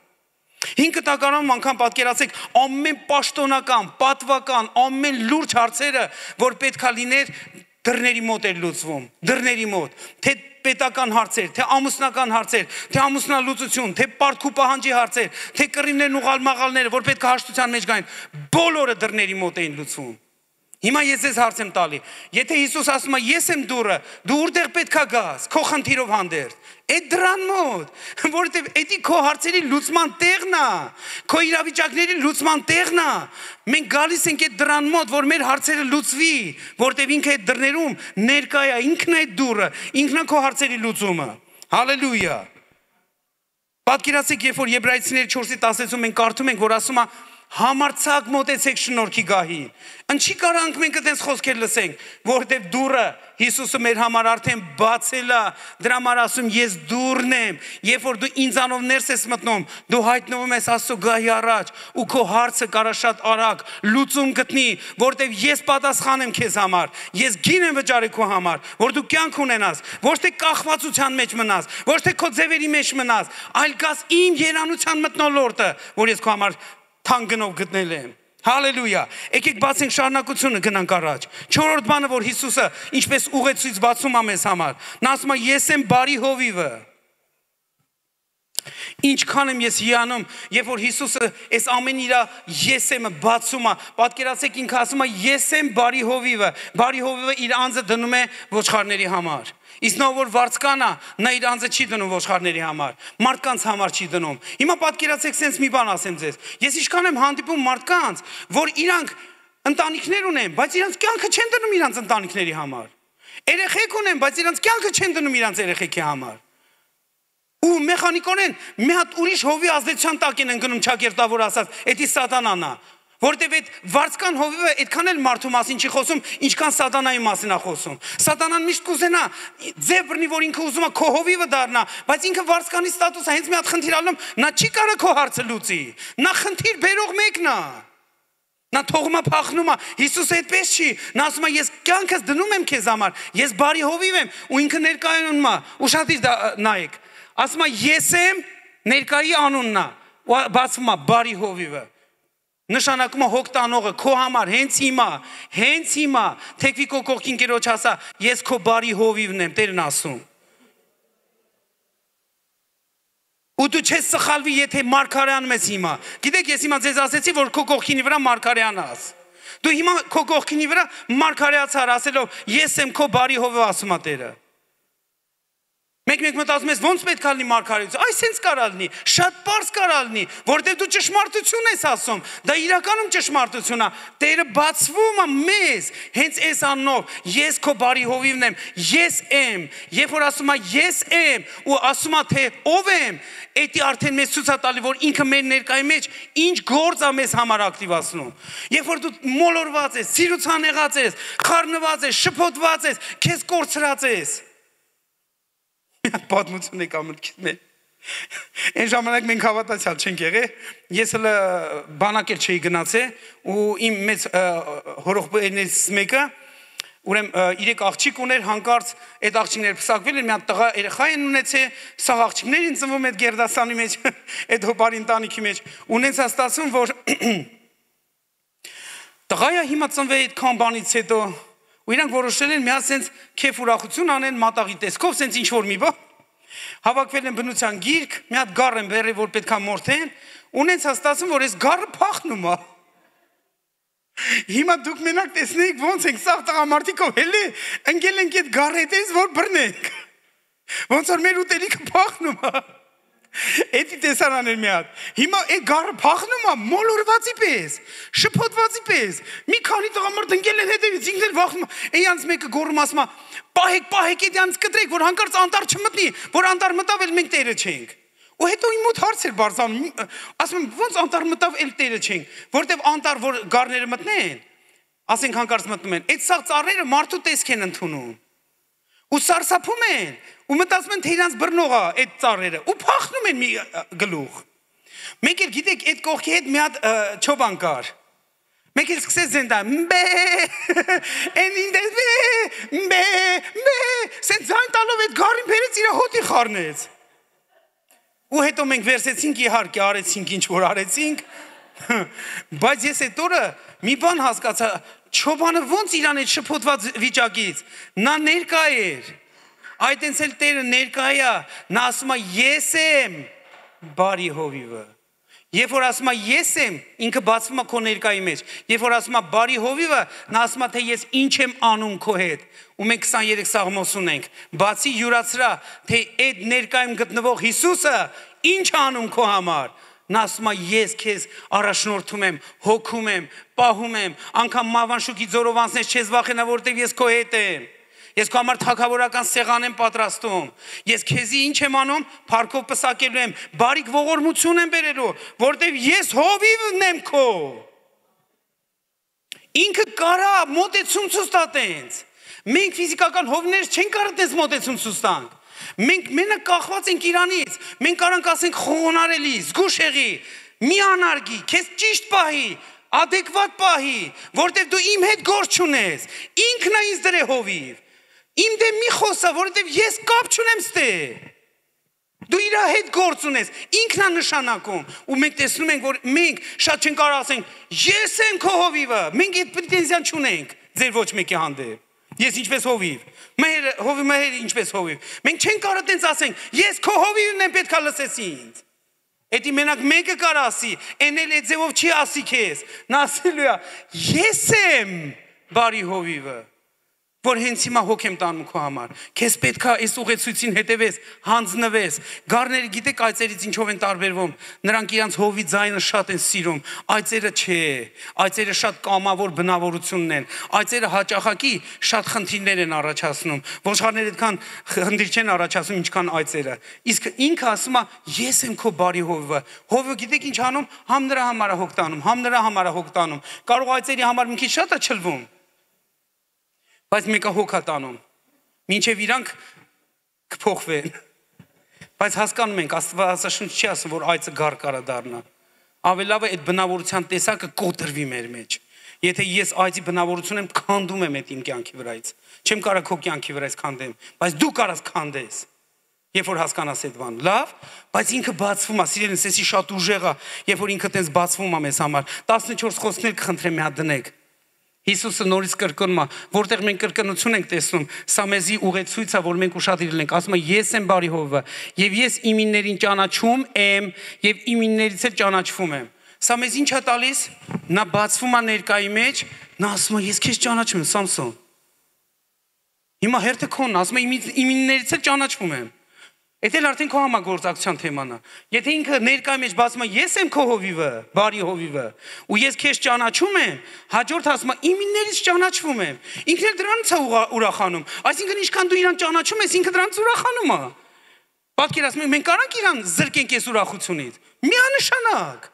5 տակարանում անգամ պատկերացեք ամեն պաշտոնական, պատվական, ամեն լուրջ հարցերը, որ պետքա լիներ դռների մոտ էր լուծվում, դռների մոտ, թե պետական հարցեր, թե ամուսնական հարցեր, թե ամուսնալուծություն, թե պարտք ու պահանջի հարցեր, թե կռիվներն ու ղալմաղալները, որ պետք է հաշտության մեջ գային, բոլորը դռների մոտ էին լուծվում։ Հիմա ես ձեզ հարց եմ տալի։ Եթե Հիսուս ասում է ես եմ դուռը, դու որտեղ պետքա գաս, քո խնդիրով հանդերձ։ Այդ դրան մոտ, որովհետև դա քո հարցերի լուծման տեղն է, քո իրավիճակների լուծման տեղն է։ Մենք գալիս ենք այդ դրան մոտ, որ մեր հարցերը լուծվի, որովհետև ինքը այդ դռներում ներկա է, ինքն է այդ դուռը, ինքն է քո հարցերի լուծումը։ Հալելույա։ Պատկերացեք, երբ որ Եբրայեցիների 4:16-ում մենք կարդում ենք, որ ասում է համարձակ մոտեցեք շնորհքի գահին։ Ինչի կարանք մենք այդպես խոսքեր լսենք, որովհետև դուռը Հիսուսը մեր համար արդեն բացել է, դրա համար ասում ես դուռն եմ, երբ որ դու ինձանով ներս ես մտնում, դու հայտնվում ես Աստծո գահի առաջ, ու քո հարցը կարա շատ արագ լուծում գտնի, որովհետև ես պատասխան եմ քեզ համար, ես գին եմ վճարի քո համար, որ դու կյանք ունենաս, ոչ թե կախվածության մեջ մնաս, ոչ թե քո ձևերի մեջ մնաս, այլ գաս իմ երանության մթնոլորտը, որ ես քո համար թան գնով գտնել եմ։ Հալելույա։ Եկեք բացենք շարունակությունը գնանք առաջ։ Չորրորդ բանը, որ Հիսուսը ինչպես ուղեցույց բացում է մեզ համար։ Նա ասում է ես եմ բարի հովիվը։ Ինչքան եմ ես հիանում, երբ որ Հիսուսը այս ամեն իր ես եմը բացում է, պատկերացեք ինքը ասում է ես եմ բարի հովիվը։ Բարի հովիվը իր անձը դնում է ոչխարների համար։ Իսկ նա որ վարձկանա, նա իր անձը չի դնում ոչխարների համար, մարդկանց համար չի դնում։ Հիմա պատկերացեք, sense մի բան ասեմ ձեզ։ Ես ինչքան եմ հանդիպում մարդկանց, որ իրանք ընտանիքներ ունեն, բայց իրանք կյանքը չեն դնում իրանք ընտանիքների համար։ Երեխեք ունեն, բայց իրանք կյանքը չեն դնում իրանք երեխեքի համար։ Ու մեխանիկորեն մի հատ ուրիշ հովի ազդեցության տակ են ընկնում ճակերտավոր ասած, դա սատանան է։ Որտեւ այդ վարձկան հովիվը այդքան էլ մարդու մասին չի խոսում, ինչքան սատանայի մասին է խոսում։ Սատանան միշտ կուզենա ձև բռնի, որ ինքը ուզում է քո հովիվը դառնա, բայց ինքը վարձկանի ստատուսը հենց մի հատ խնդիր ալնում, նա չի կարող քո հարցը լուծի։ Նա խնդիր բերող մեկն է։ Նա թողում է փախնում է։ Հիսուսը այդպես չի։ Նա ասում է ես կյանքս դնում եմ քեզ համար, ես բարի հովիվ եմ, ու ինքը ներկայանում է։ Ուշադիր նայեք։ Ասում է ես եմ, ներկայի անունն է։ Ու բացվում է բարի հովիվը։ Նշանակում է հոգ տանողը քո համար հենց հիմա թեկվի քո կողքին կերոջ ասա ես քո բարի հովիվն եմ Տերն ասում։ Ու դու չես սխալվի եթե մարգարեանում ես հիմա։ Գիտեք ես հիմա ձեզ ասեցի որ քո կողքինի վրա մարգարեանաս։ Դու հիմա քո կողքինի վրա մարգարեացար ասելով ես եմ քո բարի հովիվը ասում է Տերը։ Մեկ մտածում ես ոնց պետք է լինի մարգարեություն։ Այս հենց կարա լինի, շատ པարզ կարա լինի, որտեղ դու ճշմարտություն ես ասում։ Դա իրականում ճշմարտություն է։ Տերը բացվում է մեզ հենց այս անունով։ Ես քո բարի հովիվն եմ, ես եմ։ Երբ որ ասում է ես եմ ու ասում է թե ով եմ, դա արդեն մեզ ցույց է տալի, որ ինքը մեր ներկայի մեջ ինչ գործ է մեզ համար ակտիվացնում։ Երբ որ դու մոլորված ես, սիրուցան եղած ես, խառնված ես, շփոթված ես, քեզ կորցրած ես։ Պատմություն եք ամենքից մեր։ Այն ժամանակ մենք հավատացյալ չենք եղել, ես հələ բանակել չէի գնացել ու իմ մեծ հորողբերներից մեկը ուրեմն 3 աղջիկ ուներ, հանկարծ այդ աղջիկները փսակվել են, մի հատ տղա երեխա են ունեցել, սա աղջիկներին ծնվում այդ գերդաստանի մեջ, այդ հոբարի ընտանիքի մեջ, ունեցա ստացվում, որ տղայա հիմա ծնվել այդքան բանից հետո ու իրանք որոշել են մի հատ սենց քեֆ ուրախություն անեն մատաղի տեսքով, սենց ինչ որ մի բան։ Հավաքվել են բնության գիրք, մի հատ գառ են բերել, որ պետքա մորթեն, ունենց հաստատում, որ այս գառը փախնում է։ Հիմա դուք մենակ տեսնեիք ոնց ենք սաղ տղամարդիկով հելի ընկել ենք այդ գառի հետևից, որ բռնենք։ Ոնց որ մեր ուտելիքը փախնում է։ Էդի տեսարաներ մի հատ։ Հիմա այդ գառը փախնում է մոլորվածի պես, շփոթվածի պես։ Մի քանի տղամարդ ընկել են հետևից, ինքն էլ վախնում է։ Էյանց մեկը գոռում ասում է. «Պահեք, էդյանց կտրեք, որ հանկարծ անտառ չմտնի, որ անտառ մտավ էլ մենք տերը չենք»։ Ու հետո իմ մոտ հարց էր բարձրանում, ասում եմ, ոնց անտառ մտավ էլ տերը չենք, որտեվ անտառ որ գառները մտնեն, ասենք հանկարծ մտնում են, այդ սաղ ծառերը մարդու տեսք են ընդունում։ Ու սարսափում են, ու մտածում են թե իրանց բռնող է այդ ծառերը, ու փախնում են մի գլուխ։ Մեկ էլ գիտեք, այդ կողքի հետ մի հատ չոբան կար։ Մեկ էլ սկսեց զենտա, սենց ձայն տալով այդ գառին բերեց իր հոտի խառնեց։ Ու հետո մենք վերցեցինք իհարկե արեցինք ինչ որ արեցինք, բայց ես այդ օրը մի բան հասկացա, չոբանը ոնց իրան այդ շփոթված վիճակից, նա ներկա էր, այդենց էլ Տերը ներկա է, նա ասում է ես եմ բարի հովիվը, Երբ որ ասում է ես եմ, ինքը բացվում է քո ներկայի մեջ։ Երբ որ ասում է բարի հովիվը, նա ասում է թե ես ինչ եմ անում քո հետ։ Ու մենք 23 Սաղմոս ունենք։ Բացի յուրացրա, թե այդ ներկայում գտնվող Հիսուսը ինչ անում քո համար։ Նա ասում է ես քեզ առաջնորդում եմ, հոգում եմ, պահում եմ, անգամ մավանշուկի ձորով անցնես չես վախենա, որտեղ ես քո հետ եմ։ Ես քո համար թագավորական սեղան եմ պատրաստում։ Ես քեզի ինչ եմ անում, փառքով պսակելու եմ, բարիք ողորմություն եմ բերելու, որտեղ ես հովիվն եմ քո։ Ինքը կարա մոտեցում ցույց տա տենց։ Մենք ֆիզիկական հովներ չենք կարող տես մոտեցում ցույց տանք։ Մենք մենակ կախված ենք Իրանից։ Մենք կարանք ասենք խոնարելի, զգուշ եղի, մի անարգի, քեզ ճիշտ պահի, adekvat պահի, որտեղ դու իմ հետ գործ չունես։ Ինքն է ինձ դրե հովիվ։ Իմ դեմ մի խոսա, որովհետև ես կապ չունեմ ստե։ Դու իր հետ գործ ունես, ինքն է նշանակում։ Ու մենք տեսնում ենք, որ մենք շատ չենք կարող ասենք, ես եմ քո հովիվը։ Մենք այդ պրետենզիան չունենք ձեր ոչ մեկի հանդեպ։ Ես ինչպես հովիվ, մհեր ինչպես հովիվ։ Մենք չենք կարող տենց ասենք, ես քո հովիվն եմ, պետք է լսես ինձ։ Էդի մենակ մեկը կարող ասի, էն էլ այդ ձևով չի ասի քեզ։ Նա ասելու է, ես եմ բարի հովիվը, որ հենց հիմա հոգ եմ տանում քո համար։ Քեզ պետք է այս ուղեցույցին հետևես, հանձնվես։ Գառները գիտեք այծերից ինչով են տարբերվում։ Նրանք իրանց հովի ձայնը շատ են սիրում։ Այծերը չէ։ Այծերը շատ կամավոր բնավորությունն են։ Այծերը հաճախակի շատ խնդիրներ են առաջացնում։ Ոչխարները այդքան խնդիր չեն առաջացնում, ինչքան այծերը։ Իսկ ինքը ասում է, ես եմ քո բարի հովը։ Հովը գիտեք ինչ անում, համ նրա համար է հոգ տանում, համ նրա համար է հոգ տանում։ Կարող այծերի համար մի քիչ շատ է չլվում։ Բայց մեկը հոգ է տանում, մինչև իրանք կփոխվեն։ Բայց հասկանում ենք, Աստվածաշունչ չի ասում, որ այծը գառ կարա դառնա։ Ավելի լավ է այդ բնավորության տեսակը կոտրվի մեր մեջ։ Եթե ես այծի բնավորություն եմ, քանդում եմ այդ իմ կյանքի վրայից։ Չեմ կարող քո կյանքի վրայից քանդեմ, բայց դու կարաս քանդես։ Երբ որ հասկանաս այդ բան, լավ, բայց ինքը բացվում է, սիրելին, սեսի շատ ուժեղ է, երբ որ ինքը տես բացվում է մեզ համար։ 14 խոսքներ կխնդրեմ մի հատ դնեք։ Հիսուսը նորից կրկնում է, որտեղ մենք կրկնություն ենք տեսնում, սա մեզի ուղեցույց է, որ մենք ուշադրել ենք, ասում է ես եմ բարի հովը, եւ ես իմիններին ճանաչում եմ եւ իմիններից էլ ճանաչվում եմ։ Սա մեզ ինչ է տալիս։ Նա բացվում է ներկայի մեջ, նա ասում է ես քեզ ճանաչում եմ, Սամսոն։ Հիմա հերթը քոնն, ասում է իմիններից էլ ճանաչվում եմ։ Էդ էլ արդեն քո համագործակցության թեման է։ Եթե ինքը ներկայի մեջ բացում է ես եմ քո հովիվը, բարի հովիվը, ու ես քեզ ճանաչում եմ, հաջորդ ասում է իմիններից ճանաչվում եմ։ Ինքն էլ դրանից է ուրախանում։ Այսինքն ինչքան դու իրան ճանաչում ես, ինքը դրանից ուրախանում է։ Պատկերացնում եք, մենք կարանք իրան զրկենք այս ուրախությունից։ Միանշանակ։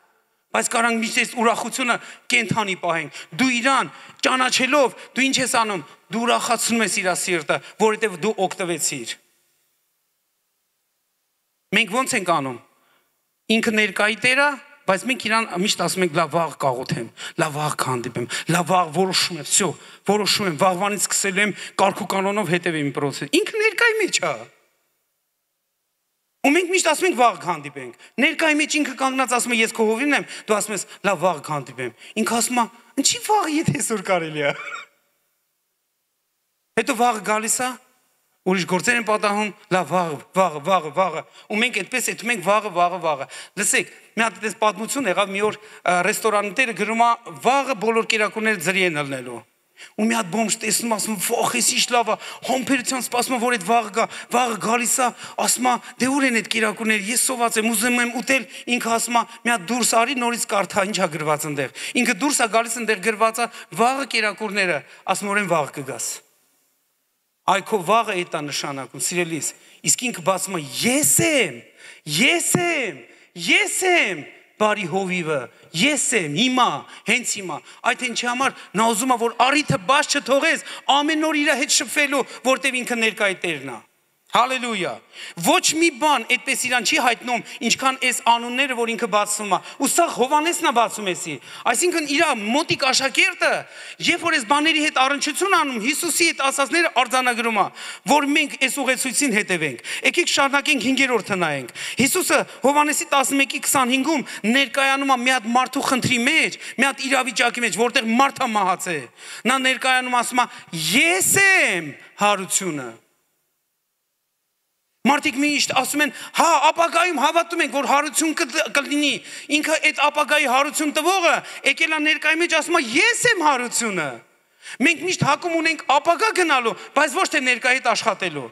Բայց կարանք միշտ այս ուրախությունը կենթանի պահենք։ Դու իրան ճանաչելով, դու ինչ ես անում։ Դու ուրախացնում ես իր սիրտը, որովհետև դու օգտվեցիր։ Մենք ոնց ենք անում։ Ինքը ներկայի Տերը, բայց մենք իրան միշտ ասում ենք լավ վաղ կաղոթեմ, լավ վաղ կհանդիպեմ, լավ վաղ որոշում եմ, всё, որոշում եմ, վաղվանից սկսելու եմ կարգու կանոնով հետևեմ process։ Ինքը ներկայի մեջ է։ Ու մենք միշտ ասում ենք վաղ կհանդիպենք։ Ներկայի մեջ ինքը կանգնած ասում է ես քո հովիվն եմ, դու ասում ես լավ վաղ կհանդիպեմ։ Ինքը ասում է ինչի վաղ եթե այսօր կարելի է։ Հետո վաղ գալիս է ուրիշ գործեր են պատահում, լավ վաղը, ու մենք այդպես էթում ենք վաղը։ Լսեք, մի հատ այդպես պատմություն եղավ, մի օր ռեստորանները գրում է վաղը բոլոր կերակուրները ձրի են ելնելու։ Ու մի հատ բոմժ տեսնում ասում վախ, էս ինչ լավ է, համբերությամբ սպասում է, որ այդ վաղը գալիս է, ասում է դե ուր են այդ կերակուրները, ես սոված եմ, ուզում եմ ուտել, ինքը ասում է մի հատ դուրս արի, նորից կարդա, ինչ է գրված այնտեղ։ Ինքը դուրս է գալիս այնտեղ գրված է վաղը կերակուրները, ասում օրեն վաղ կգաս։ Այ քո վաղը այդ է նշանակում, սիրելիս, իսկ ինքը բացում է ես եմ, բարի հովիվը, ես եմ, հիմա, հենց հիմա, այդ ինչի համար նա ուզում է, որ առիթը բաց չթողես, ամեն օր իր հետ շփվելու, որտեղ ինքը ներկայի Տերն է։ Հալելույա։ Ոչ մի բան այդպես իրան չի հայտնում, ինչքան այս անունները, որ ինքը բացում է։ Ու սա Հովհաննեսն է բացում էսի։ Այսինքն իր մոտիկ աշակերտը, երբ որ այս բաների հետ առնչություն անում, Հիսուսի այդ ասածները արձանագրում է, որ մենք այս ուղեցույցին հետևենք։ Եկեք շարունակենք 5-րդը նայենք։ Հիսուսը Հովհաննեսի 11:25-ում ներկայանում է մի հատ մարդու խնդրի մեջ, մի հատ իրավիճակի մեջ, որտեղ մարդը մահաց է։ Նա ներկայանում ասում է. ես եմ հարությունը։ Մարդիկ միշտ ասում են, հա, ապագայում հավատում ենք, որ հարություն կլինի։ Ինքը այդ ապագայի հարություն տվողը եկել է ներկայի մեջ ասում է, ես եմ հարությունը։ Մենք միշտ հակում ունենք ապագա գնալու, բայց ոչ թե ներկայի հետ աշխատելու։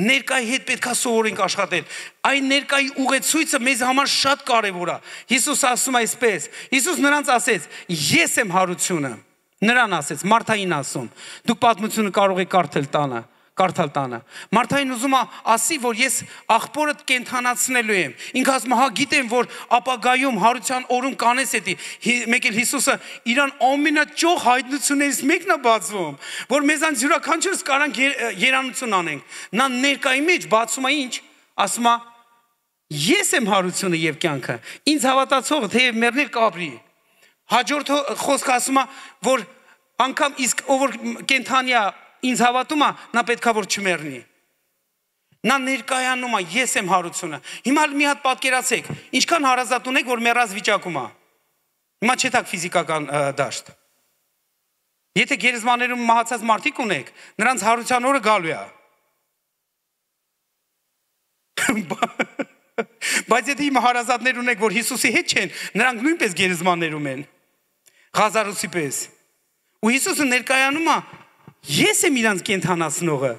Ներկայի հետ պետքա սովորենք աշխատել։ Այն ներկայի ուղեցույցը մեզ համար շատ կարևոր է։ Հիսուս ասում է այսպես։ Հիսուս նրանց ասեց. ես եմ հարությունը։ Նրան ասեց, Մարթային ասում։ Դուք պատմությունը կարող եք կարդալ տանը։ Մարթային ուզում է ասի, որ ես աղբորդ կենթանացնելու եմ։ Ինքը ասում է, հա, գիտեմ, որ ապագայում հարության օրում կանես էդի։ Մեկ էլ Հիսուսը իրան ամենաճոխ հայտնություններից մեկն է բացվում, որ մեզանց յուրաքանչյուրս կարանք երանություն անենք։ Նա ներկայի մեջ բացում է ինչ, ասում է, ես եմ հարությունը եւ կյանքը։ Ինձ հավատացողը թեև մեռնել կապրի։ Հաջորդ խոսքը ասում է, որ անգամ իսկ ով որ կենթանի է ինձ հավատում է, նա պետքա որ չմեռնի։ Նա ներկայանում է, ես եմ հարությունը։ Հիմա մի հատ պատկերացեք, ինչքան հարազատ ունեք, որ մեռած վիճակում է։ Հիմա չեք ֆիզիկական դաշտ։ Եթե գերեզմաներում մահացած մարդիկ ունեք, նրանց հարության օրը գալու է։ Բայց եթե հիմա հարազատներ ունեք, որ Հիսուսի հետ չեն, նրանք նույնպես գերեզմաններում են։ Ղազարոսի պես։ Ու Հիսուսը ներկայանում է, ես եմ իրանց կենթանացնողը։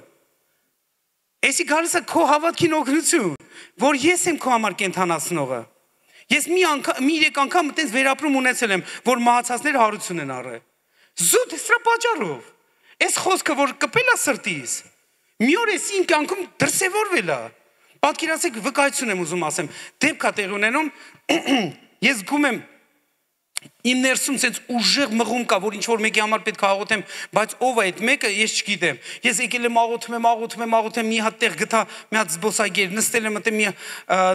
Էսի գալիս է քո հավատքին օգնություն, որ ես եմ քո համար կենթանացնողը։ Ես մի 3 անգամ այտենց վերապրում ունեցել եմ, որ մահացածները հարություն են առել։ Զուտ սրա պատճառով։ Այս խոսքը, որ կպել է սրտիս, մի օր էս իմ կյանքում դրսևորվել է։ Պատկերացեք, վկայություն եմ ուզում ասեմ, դեպք է տեղ ունենում, ես զգում եմ իմ ներսում sense ուժեղ մղում կա, որ ինչ որ մեկի համար պետք է աղոթեմ, բայց ով է այդ մեկը, ես չգիտեմ։ Ես եկել եմ աղոթում, մի հատ տեղ գտա, մի հատ զբոսայգեր, նստել եմ այդտեղ մի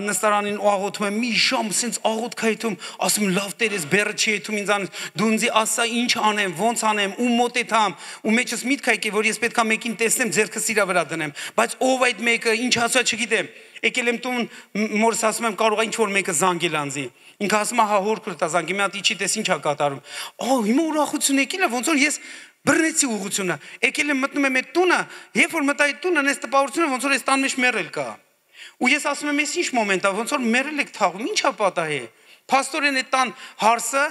նստարանին ու աղոթում եմ, մի ժամ sense աղոթք հայթում, ասում լավ Տեր, ես բեռը չի եթում ինձանից, դու ինձ ասա ինչ անեմ, ոնց անեմ, ու մոտեթամ, ու մեջս միտք եկե, որ ես պետքա մեկին տեսնեմ, ձեռքս իրա վրա դնեմ, բայց ով այդ մեկը, ինչ ասա չգիտեմ։ Եկել եմ տուն, մորս ասում եմ կարող է ինչ որ մեկը զանգել անձի։ Ինքը ասում է հա հոր կրտա զանգի, մի հատ իջի տես ինչ է կատարում։ Հիմա ուրախություն եկել է, ոնց որ ես բռնեցի ուղղությունը։ Եկել եմ մտնում եմ այդ տունը, երբ որ մտա այդ տունը, այս տպավորությունը ոնց որ այս տան մեջ մեռել կա։ Ու ես ասում եմ, այս ինչ մոմենտ է, ոնց որ մեռել եք թաղում, ի՞նչ է պատահի։ Փաստորեն այդ տան հարսը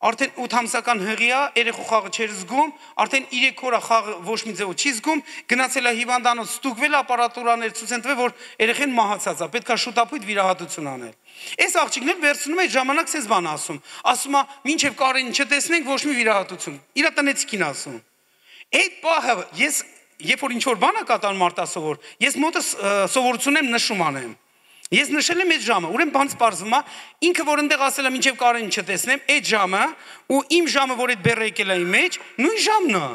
արդեն 8 ամսական հղի է, երեխու խաղը չէր զգում, արդեն 3 օր է խաղը ոչ մի ձևով չի զգում, գնացել է հիվանդանոց, ստուգվել ապարատուրաներ ցույց են տվել, որ երեխեն մահացած է, պետք է շուտապույտ վիրահատություն անել։ Այս աղջիկն էլ վերցնում է ժամանակ ցես բան ասում է, մինչև Կարենին չտեսնենք ոչ մի վիրահատություն։ Իրա տնեցիկին ասում։ Այդ պահը ես երբ որ ինչ որ բան է կատարում արտասովոր, ես մոտս սովորություն եմ նշում անեմ։ Ես նշել եմ այդ ժամը, ուրեմն բան սպառվում է, ինքը որ ընդեղ ասել է մինչև Կարենին չտեսնեմ, այդ ժամը ու իմ ժամը, որ այդ բեռը եկել է իմ մեջ, նույն ժամն է։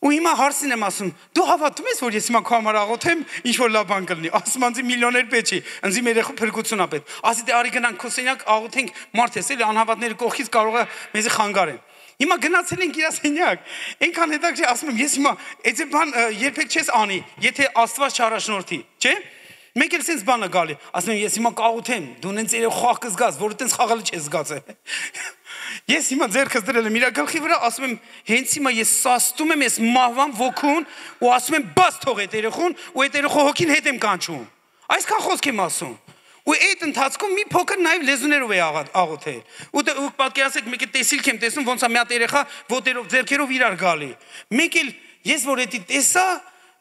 Ու հիմա հարցին եմ ասում, դու հավատում ես, որ ես հիմա քո համար աղոթեմ, ինչ որ լավ բան կլինի։ Ասում անձի միլիոներ պետք չի, ինձ երեխու փրկություն ա պետք։ Ասի դե արի գնանք քո սենյակ աղոթենք, մարդ ես էլի անհավատների կողքից կարող է մեզի խանգարեն։ Հիմա գնացել ենք իր սենյակ։ Այնքան հետաքրքիր ասում եմ, ես հիմա այդ բան երբեք չես անի, եթե Աստված չառաջնորդի, չէ՞։ Մեկ էլ sense բանը գալի, ասում եմ ես հիմա կաղոթեմ, դու նենց երեք խաղ կզգաս, որ այտենց խաղալը չես զգացել։ Ես հիմա ձեռքս դրել եմ իր գլխի վրա, ասում եմ հենց հիմա ես սաստում եմ այս մահվան ոգուն ու ասում եմ բաց թող այդ երեխուն ու այդ երեխու հոգին հետ եմ կանչում։ Այսքան խոսք եմ ասում։ Ու այդ ընթացքում մի փոքր նաև լեզուներով է աղոթել։ Ու պատկերացեք մեկը տեսիլք եմ տեսնում ոնց է մի հատ երեխա ոտերով ձեռքերով իրար գալի։ Մեկ էլ ես որ էդի տեսա,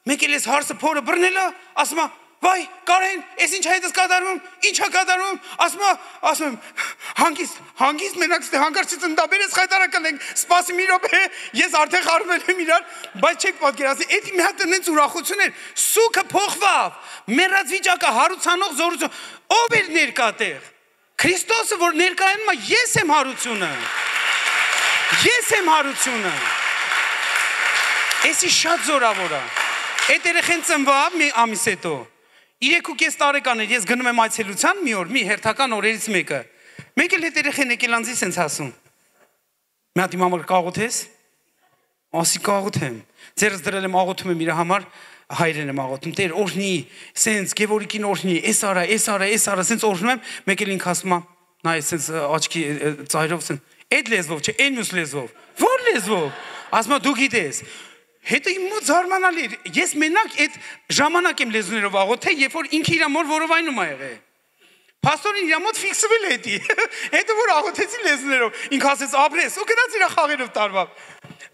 մեկ էլ ես հարսը փորը բռնել է, ասում եմ վայ, Կարեն, ես ինչ հայտես կատարում, ինչ է կատարում, ասում եմ, հանգիստ մենակ ստե հանգարցից ընդաբեր ես խայտարակն ենք, սպասի մի րոպե, ես արդեն խարվել եմ իրար, բայց չեք պատկերացի, էդի մի հատ նենց ուրախություն էր, սուքը փոխվավ, մեռած վիճակը հարուցանող զորություն, ով էր ներկա տեղ, Քրիստոսը, որ ներկայանում է, ես եմ հարությունը, էսի շատ զորավոր է, այդ երեխեն ծնվավ մի ամիս հետո, 3.5 տարեկան էր, ես գնում եմ այցելության մի օր, մի հերթական օրերից մեկը, մեկ էլ հետ երեխեն եկել անձի սենց ասում, մի հատ իմ համար կաղոթես, ասի կաղոթեմ, ձերս դրել եմ աղոթում եմ իր համար, հայրեն եմ աղոթում, Տեր օրհնի, սենց Գևորգին օրհնի, էս արա, սենց օրհնում եմ, մեկ էլ ինքը ասում է, նա է սենց աչքի ծայրով, այդ լեզվով չէ, այն մյուս լեզվով, որ լեզվով, ասում է դու գիտես, Հետո իմ մոտ զարմանալի էր, ես մենակ այդ ժամանակ եմ լեզուներով աղոթել, երբ որ ինքը իր մոր որովայնում ա եղել։ Պաստորին իր մոտ ֆիքսվել է դի։ Հետո որ աղոթեցի լեզուներով, ինքը ասեց ապրես, ու գնաց իր խաղերով տարվավ։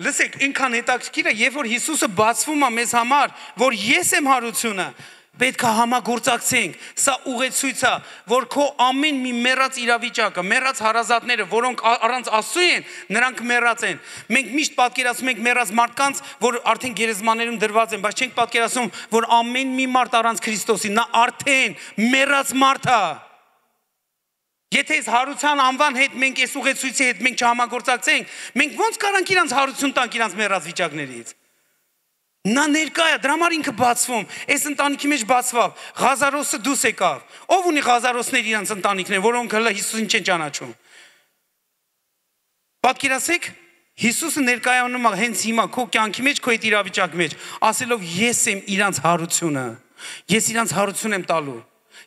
Լսեք, ինքան հետաքրքիր է, երբ որ Հիսուսը բացվում է մեզ համար, որ ես եմ հարությունը, պետք է համագործակցենք։ Սա ուղեցույց է, որ քո ամեն մի մեռած իրավիճակը, մեռած հարազատները, որոնք առանց Աստծու են, նրանք մեռած են։ Մենք միշտ պատկերացնում ենք մեռած մարդկանց, որ արդեն գերեզմաներում դրված են, բայց չենք պատկերացնում, որ ամեն մի մարդ առանց Քրիստոսի, նա արդեն մեռած մարդ է։ Եթե այս հարության անվան հետ մենք այս ուղեցույցի հետ մենք չհամագործակցենք, մենք ո՞նց կարանք իրանց հարություն տանք իրանց մեռած վիճակներից։ Նա ներկա է, դրա համար ինքը բացվում, այս ընտանիքի մեջ բացվավ, Ղազարոսը դուրս եկավ, ով ունի Ղազարոսներ իրանց ընտանիքներ, որոնք հələ Հիսուսին չեն ճանաչում։ Պատկերացեք, Հիսուսը ներկայանում է հենց հիմա քո կյանքի մեջ, քո այդ իրավիճակի մեջ, ասելով ես եմ իրանց հարությունը, ես իրանց հարություն եմ տալու,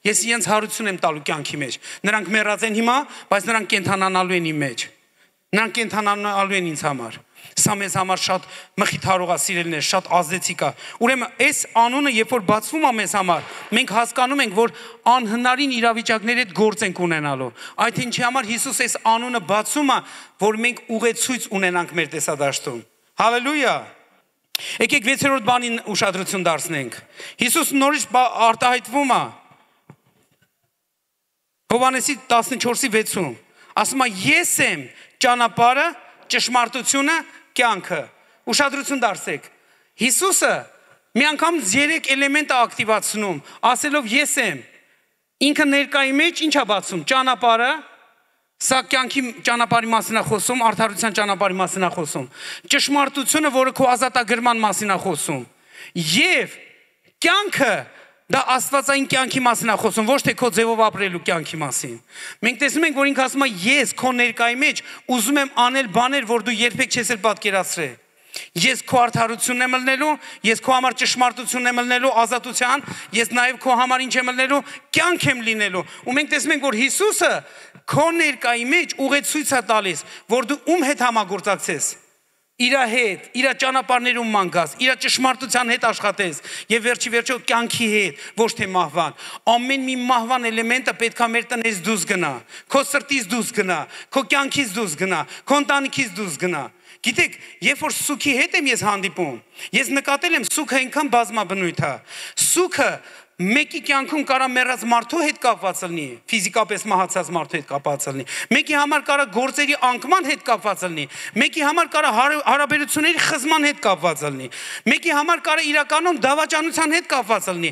ես իրանց հարություն եմ տալու կյանքի մեջ։ Նրանք մեռած են հիմա, բայց նրանք կենթանանալու են իմ մեջ։ Նրանք կենթանանալու են ինձ համար։ Սա մեզ համար շատ մխիթարող է, սիրելիներ, շատ ազդեցիկ է։ Ուրեմն այս անունը երբ որ բացվում է մեզ համար, մենք հասկանում ենք, որ անհնարին իրավիճակների հետ գործ ենք ունենալու։ Այդ ինչի համար Հիսուս այս անունը բացում է, որ մենք ուղեցույց ունենանք մեր տեսադաշտում։ Հալելույա։ Եկեք 6-րդ բանին ուշադրություն դարձնենք։ Հիսուս նորից արտահայտվում է Հովհաննեսի 14:6-ում։ Ասում է ես եմ ճանապարհը, ճշմարտությունը, կյանքը։ Ուշադրություն դարձեք։ Հիսուսը մի անգամ 3 էլեմենտ է ակտիվացնում, ասելով ես եմ։ Ինքը ներկայի մեջ ինչ է բացում։ Ճանապարհը, սա կյանքի ճանապարհի մասին է խոսում, արդարության ճանապարհի մասին է խոսում։ Ճշմարտությունը, որը քո ազատագրման մասին է խոսում։ Եվ կյանքը դա աստվածային կյանքի մասին է խոսում, ոչ թե քո ձևով ապրելու կյանքի մասին։ Մենք տեսնում ենք, որ ինքը ասում է ես քո ներկայի մեջ ուզում եմ անել բաներ, որ դու երբեք չես էլ պատկերացրել։ Ես քո արդարությունն եմ ելնելու, ես քո համար ճշմարտությունն եմ ելնելու, ազատության, ես նաև քո համար ինչ եմ ելնելու, կյանք եմ լինելու։ Ու մենք տեսնում ենք, որ Հիսուսը քո ներկայի մեջ ուղեցույց է տալիս, որ դու ում հետ համագործակցես։ Իր հետ, իր ճանապարհներում մանգաս, իր ճշմարտության հետ աշխատես եւ վերջի վերջո կյանքի հետ, ոչ թե մահվան։ Ամեն մի մահվան էլեմենտը պետքա մեր տնից դուրս գնա, քո սրտից դուրս գնա, քո կյանքից դուրս գնա, քո ընտանիքից դուրս գնա։ Գիտեք, երբ որ սուքի հետ եմ ես հանդիպում, ես նկատել եմ սուքը այնքան բազմաբնույթ է։ Սուքը մեկի կյանքում կարա մեռած մարդու հետ կապված լինի, ֆիզիկապես մահացած մարդու հետ կապված լինի։ Մեկի համար կարա գործերի անկման հետ կապված լինի, մեկի համար կարա հարաբերությունների խզման հետ կապված լինի, մեկի համար կարա իրականում դավաճանության հետ կապված լինի։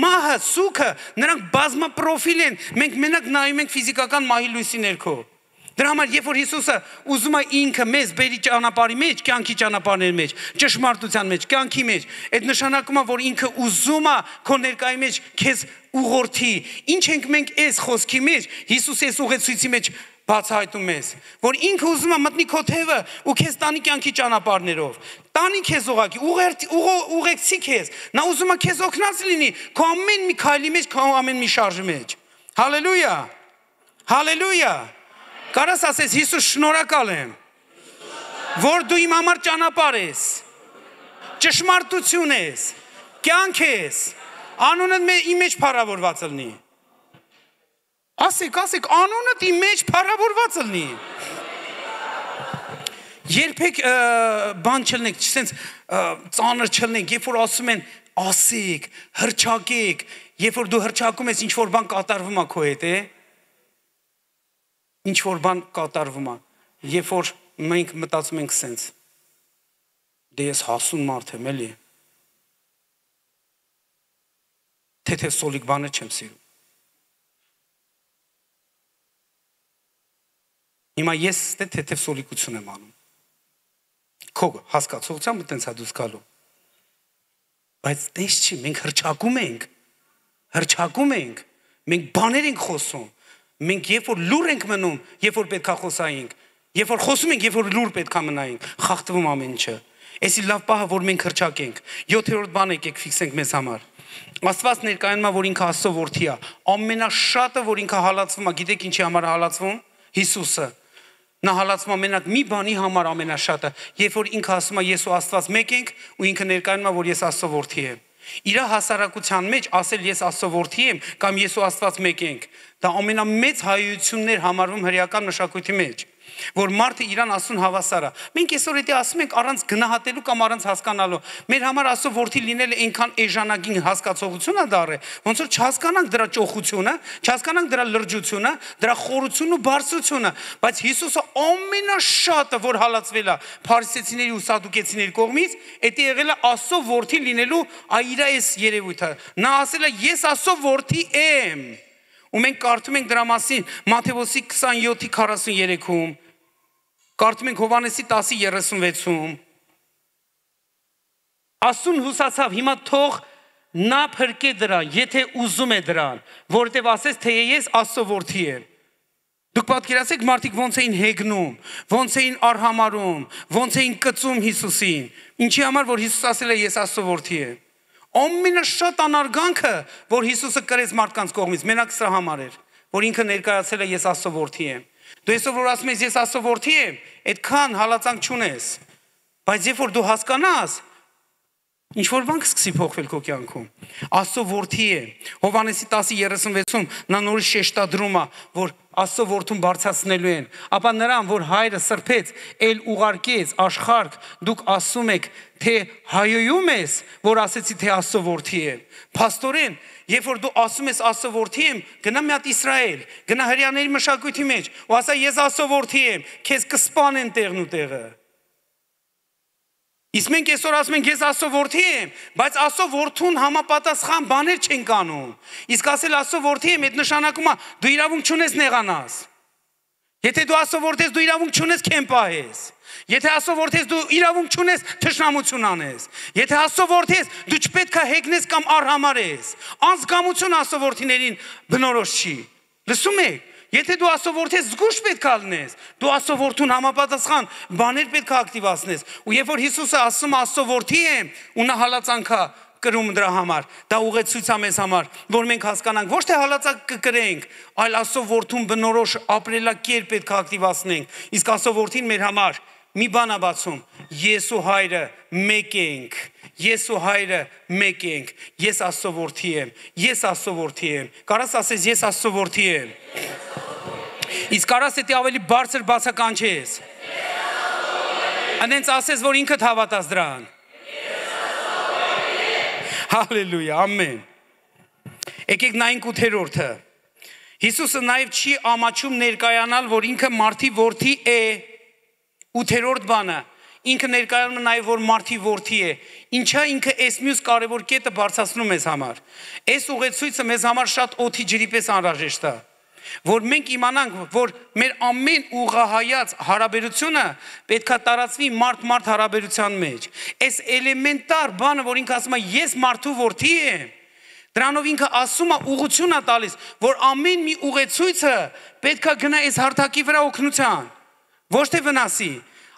Մահը, սուքը, նրանք բազմապրոֆիլ են, մենք մենակ նայում ենք ֆիզիկական մահի լույսի ներքո։ Դրա համար երբ որ Հիսուսը ուզում է ինքը մեզ բերի ճանապարհի մեջ, կյանքի ճանապարհների մեջ, ճշմարտության մեջ, կյանքի մեջ, այդ նշանակում է, որ ինքը ուզում է քո ներկայի մեջ քեզ ուղղորդի։ Ինչ ենք մենք այս խոսքի մեջ, Հիսուսի այս ուղեցույցի մեջ բացահայտում ես, որ ինքը ուզում է մտնի քո թևը ու քեզ տանի կյանքի ճանապարհներով։ Տանի քեզ ուղակի, ուղեկցի քեզ։ Նա ուզում է քեզ օգնած լինի քո ամեն մի քայլի մեջ, քո ամեն մի շարժի մեջ։ Հալելույա։ Հալելույա։ Կարաս ասես Հիսուս շնորհակալ եմ, որ դու իմ համար ճանապարհ ես, ճշմարտություն ես, կյանք ես, անունդ իմ մեջ փառավորված լինի։ Ասեք, անունդ իմ մեջ փառավորված լինի։ Երբեք բան չլնեք, չսենց ծանր չլնեք, երբ որ ասում են ասեք, հրճակեք, երբ որ դու հրճակում ես ինչ որ բան կատարվում է քո հետ, ինչ որ բան կատարվում է, երբ որ մենք մտածում ենք սենց, դե ես հասուն մարդ եմ, էլի, թեթև սոլիկ բանը չեմ սիրում։ Հիմա ես թեթև սոլիկություն եմ անում, քո հասկացողությամբ տենց է դուս գալու, բայց տես չի, մենք հրճակում ենք, մենք բաներ ենք խոսում, մենք երբ որ լուր ենք մնում, երբ որ պետքա խոսայինք, երբ որ խոսում ենք, երբ որ լուր պետքա մնայինք, խախտվում ամեն ինչը։ Էսի լավ պահը, որ մենք հրճակենք։ 7-րդ բանը եկեք ֆիքսենք մեզ համար։ Աստված ներկայանում է, որ ինքը Աստծո որդի է։ Ամենաշատը, որ ինքը հալածվում է, գիտեք ինչի համար հալածվում։ Հիսուսը։ Նա հալածում է մենակ մի բանի համար ամենաշատը, երբ որ ինքը ասում է ես ու Աստված մեկ ենք ու ինքը ներկայանում է որ ես Աստծո որդի եմ։ Իր հասարակության մեջ ասել ես Աստծո որդի եմ կամ ես ու Աստված մեկ ենք, դա ամենամեծ հայություններ համարվում հրեական մշակույթի մեջ, որ մարդը իրան ասուն հավասար է։ Մենք այսօր դա ասում ենք առանց գնահատելու կամ առանց հասկանալու։ Մեր համար Աստծո որդի լինելը այնքան էժանագին հասկացողություն է դառել, ոնց որ չհասկանանք դրա ճոխությունը, չհասկանանք դրա լրջությունը, դրա խորությունն ու բարձրությունը, բայց Հիսուսը ամենաշատը, որ հալածվել է փարիսեցիների ու սադուկեցիների կողմից, դա եղել է Աստծո որդի լինելու իր այս երևույթը։ Նա ասել է ես Աստծո որդի եմ։ Ու մենք կարդում ենք դրա մասին Մատթեոս 27:43-ում, կարդում ենք Հովհաննեսի 10:36-ում։ Աստուն հուսացավ, հիմա թող նա փրկե դրան, եթե ուզում է դրան, որովհետև ասեց թե ես Աստծո որդի եմ։ Դուք պատկերացեք մարդիկ ոնց էին հեգնում, ոնց էին արհամարում, ոնց էին կծում Հիսուսին։ Ինչի համար որ Հիսուս ասել է ես Աստծո որդի եմ։ Ամենաշատ անարգանքը, որ Հիսուսը կրեց մարդկանց կողմից, մենակ սրա համար էր, որ ինքը ներկայացել է ես Աստծո որդի եմ։ Դու այսօր որ ասում ես ես Աստծո որդի եմ, այդքան հալածանք չունես։ Բայց երբ որ դու հասկանաս, ինչ որ բան կսկսի փոխվել քո կյանքում։ Աստծո որդի է։ Հովհաննեսի 10:36-ում նա նորից շեշտադրում է, որ Աստծո որդուն բարձրացնելու են, ապա նրան, որ հայրը սրբեց, ել ուղարկեց աշխարհ, դուք ասում եք, թե հայոյում ես, որ ասեցի թե Աստծո որդի է։ Փաստորեն, երբ որ դու ասում ես Աստծո որդի եմ, գնա մի հատ Իսրայել, գնա հրեաների մշակույթի մեջ, ու ասա ես Աստծո որդի եմ, քեզ կսպանեն տեղն ու տեղը։ Իսկ մենք այսօր ասում ենք ես Աստծո որդի եմ, բայց Աստծո որդուն համապատասխան բաներ չենք անում։ Իսկ ասել Աստծո որդի եմ, այդ նշանակում է դու իրավունք չունես նեղանաս։ Եթե դու Աստծո որդի ես, դու իրավունք չունես քեմպահես։ Եթե Աստծո որդի ես, դու իրավունք չունես թշնամություն անես։ Եթե Աստծո որդի ես, դու չպետք է հեգնես կամ արհամարես։ Անձկամություն Աստծո որդիներին բնորոշ չի։ Լսում եք։ Եթե դու Աստծո որդի ես, զգուշ պետք է լինես։ Դու Աստծո որդուն համապատասխան բաներ պետք է ակտիվացնես։ Ու երբ որ Հիսուսը ասում Աստծո որդի եմ, ու նա հալածանքա կրում դրա համար, դա ուղեցույց է մեզ համար, որ մենք հասկանանք, ոչ թե հալածակ կկրենք, այլ Աստծո որդուն բնորոշ ապրելակերպ պետք է ակտիվացնենք։ Իսկ Աստծո որդին մեր համար մի բան է բացում. ես ու հայրը մեկ ենք։ Ես ու հայրը մեկ ենք։ Ես Աստծո որդի եմ։ Ես Աստծո որդի եմ։ Կարաս ասես ես Աստծո որդի եմ։ Իսկ կարաս դա ավելի բարձր բացականչես։ Անենց ասես, որ ինքդ հավատաս դրան։ Հալելույա, ամեն։ Եկեք նայենք 8-րդը։ Հիսուսը նաև չի ամաչում ներկայանալ, որ ինքը մարդի որդի է։ 8-րդ բանը, ինքը ներկայանում է նաև որ մարդի որդի է։ Ինչա ինքը այս մյուս կարևոր կետը բարձրացնում մեզ համար։ Այս ուղեցույցը մեզ համար շատ օդի ջրի պես անհրաժեշտ է, որ մենք իմանանք, որ մեր ամեն ուղղահայաց հարաբերությունը պետքա տարածվի մարդ-մարդ հարաբերության մեջ։ Այս էլեմենտար բանը, որ ինքը ասում է ես մարդու որդի եմ, դրանով ինքը ասում է ուղղություն է տալիս, որ ամեն մի ուղեցույցը պետքա գնա այս հարթակի վրա օգնության, ոչ թե վնասի։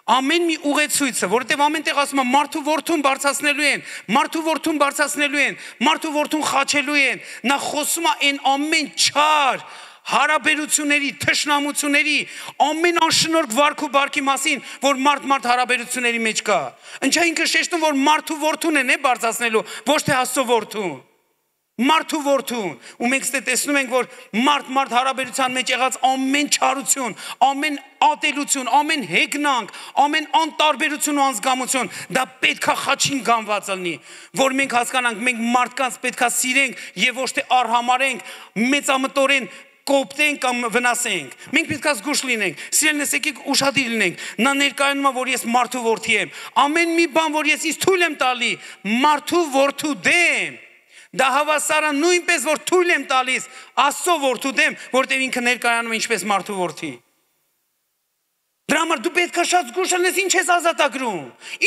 Ամեն մի ուղեցույցը, որովհետև ամեն տեղ ասում է մարդու որդուն բարձրացնելու են, մարդու որդուն բարձրացնելու են, մարդու որդուն խաչելու են, նա խոսում է այն ամեն չար հարաբերությունների, թշնամությունների, ամեն անշնորհք վարք ու բարքի մասին, որ մարդ-մարդ հարաբերությունների մեջ կա։ Ինչա ինքը շեշտում, որ մարդու որդուն են բարձրացնելու, ոչ թե Աստծո որդուն։ Մարդու որդուն, ու մենք տեսնում ենք, որ մարդ-մարդ հարաբերության մեջ եղած ամեն չարություն, ամեն ատելություն, ամեն հեգնանք, ամեն անտարբերություն ու անզգամություն, դա պետքա խաչին գանված լինի, որ մենք հասկանանք, մենք մարդկանց պետքա սիրենք եւ ոչ թե արհամարենք, մեծամտորեն կոպտենք կամ վնասենք։ Մենք պետք է զգուշ լինենք, սիրելիներս, եկեք ուշադիր լինենք։ Նա ներկայանում է, որ ես մարդու որդի եմ։ Ամեն մի բան, որ ես ինձ թույլ եմ տալի, մարդու որդու դեմ, դա հավասար է նույնպես, որ թույլ եմ տալիս Աստծո որդու դեմ, որտեղ ինքը ներկայանում է ինչպես մարդու որդի։ Դրա համար դու պետք է շատ զգուշ լինես, ինչ ես ազատագրում,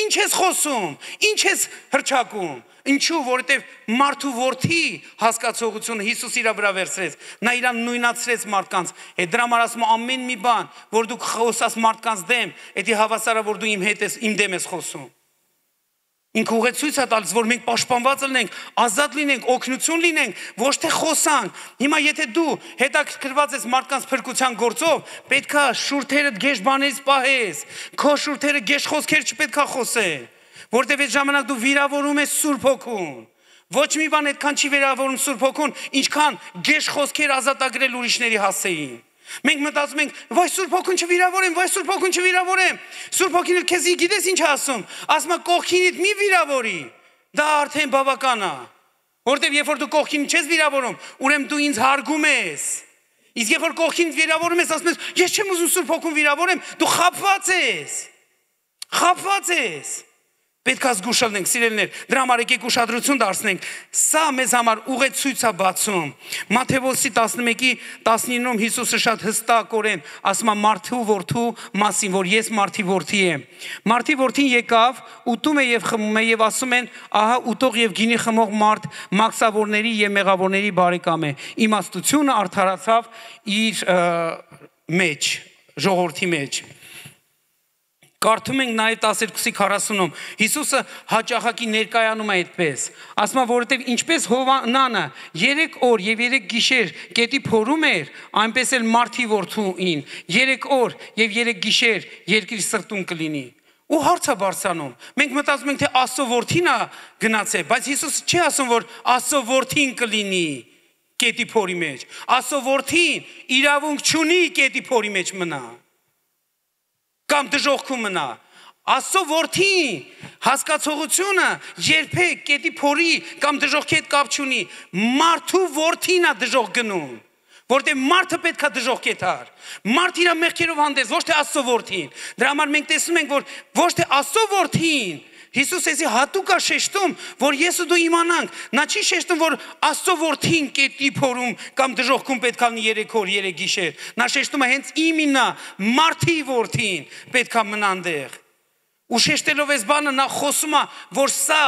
ինչ ես խոսում, ինչ ես հռչակում։ Ինչու, որովհետև մարդու որդի հասկացողությունը Հիսուս իր վրա վերցրեց, նա իրան նույնացրեց մարդկանց հետ։ Դրա համար ասում ամեն մի բան, որ դու խոսաս մարդկանց դեմ, դա հավասար է, որ դու իմ հետ ես, իմ դեմ ես խոսում։ Ինքը ուղեցույց է տալիս, որ մենք պաշտպանված լինենք, ազատ լինենք, օգնություն լինենք, ոչ թե խոսանք։ Հիմա եթե դու հետաքրքրված ես մարդկանց փրկության գործով, պետքա շուրթերդ գեշ բաներից պահես, քո շուրթերը գեշ խոսքեր չպետքա խոսել, որտեղ այդ ժամանակ դու վիրավորում ես Սուրբ Հոգուն։ Ոչ մի բան այդքան չի վիրավորում Սուրբ Հոգուն, ինչքան գեշ խոսքեր ազատագրել ուրիշների հասեին։ Մենք մտածում ենք, վայ Սուրբ Հոգուն չվիրավորեմ, վայ Սուրբ Հոգուն չվիրավորեմ։ Սուրբ Հոգին քեզ գիտես ինչ ասում, ասում է կողքինիդ մի վիրավորի։ Դա արդեն բավական է։ Որտեւ երբ որ դու կողքին չես վիրավորում, ուրեմն դու ինձ հարգում ես։ Իսկ երբ որ կողքին վիրավորում ես, ասում ես, ես չեմ ուզում Սուրբ Հոգուն վիրավորեմ, դու խաբված ես։ Խաբված ես։ Պետք է զգուշ լինենք, սիրելիներ, դրա համար եկեք ուշադրություն դարձնենք։ Սա մեզ համար ուղեցույց է բացում։ Մատթեոս 11:19-ում Հիսուսը շատ հստակորեն ասում է մարդու որդու մասին, որ ես մարդի որդի եմ։ Մարդի որդին եկավ, ուտում է եւ խմում է եւ ասում են, ահա ուտող եւ գինի խմող մարդ մաքսավորների եւ մեղավորների բարեկամ է։ Իմաստությունը արդարացավ իր մեջ, ժողովրդի մեջ։ Կարդում ենք նաև 12:40-ում Հիսուսը հաճախակի ներկայանում է այդպես։ Ասում է, որովհետև ինչպես Հովանանը 3 օր եւ 3 գիշեր գետի փորում էր, այնպես էլ մարդի որդուին 3 օր եւ 3 գիշեր երկրի սրտում կլինի։ Ու հարց է բարձրանում։ Մենք մտածում ենք, թե Աստծո որդին է գնացել, բայց Հիսուսը չի ասում, որ Աստծո որդին կլինի գետի փորի մեջ։ Աստծո որդին իրավունք չունի գետի փորի մեջ մնա։ Կամ դժողքում մնա։ Աստծո որդին հասկացողությունը երբեք գետի փորի կամ դժողքի հետ կապ չունի։ Մարդու որդին է դժող գնում, որտեղ մարդը պետք է դժող կետար։ Մարդ իր մեղքերով հանդես, ոչ թե Աստծո որդին։ Դրա համար մենք տեսնում ենք, որ ոչ թե Աստծո որդին Հիսուս էսի հատուկ է շեշտում, որ ես ու դու իմանանք, նա չի շեշտում, որ Աստծո որդին կետի փորում կամ դժողքում պետք է լինի 3 օր, 3 գիշեր։ Նա շեշտում է հենց իմինա, մարդի որդին պետք է մնա այնտեղ։ Ու շեշտելով այս բանը նա խոսում է, որ սա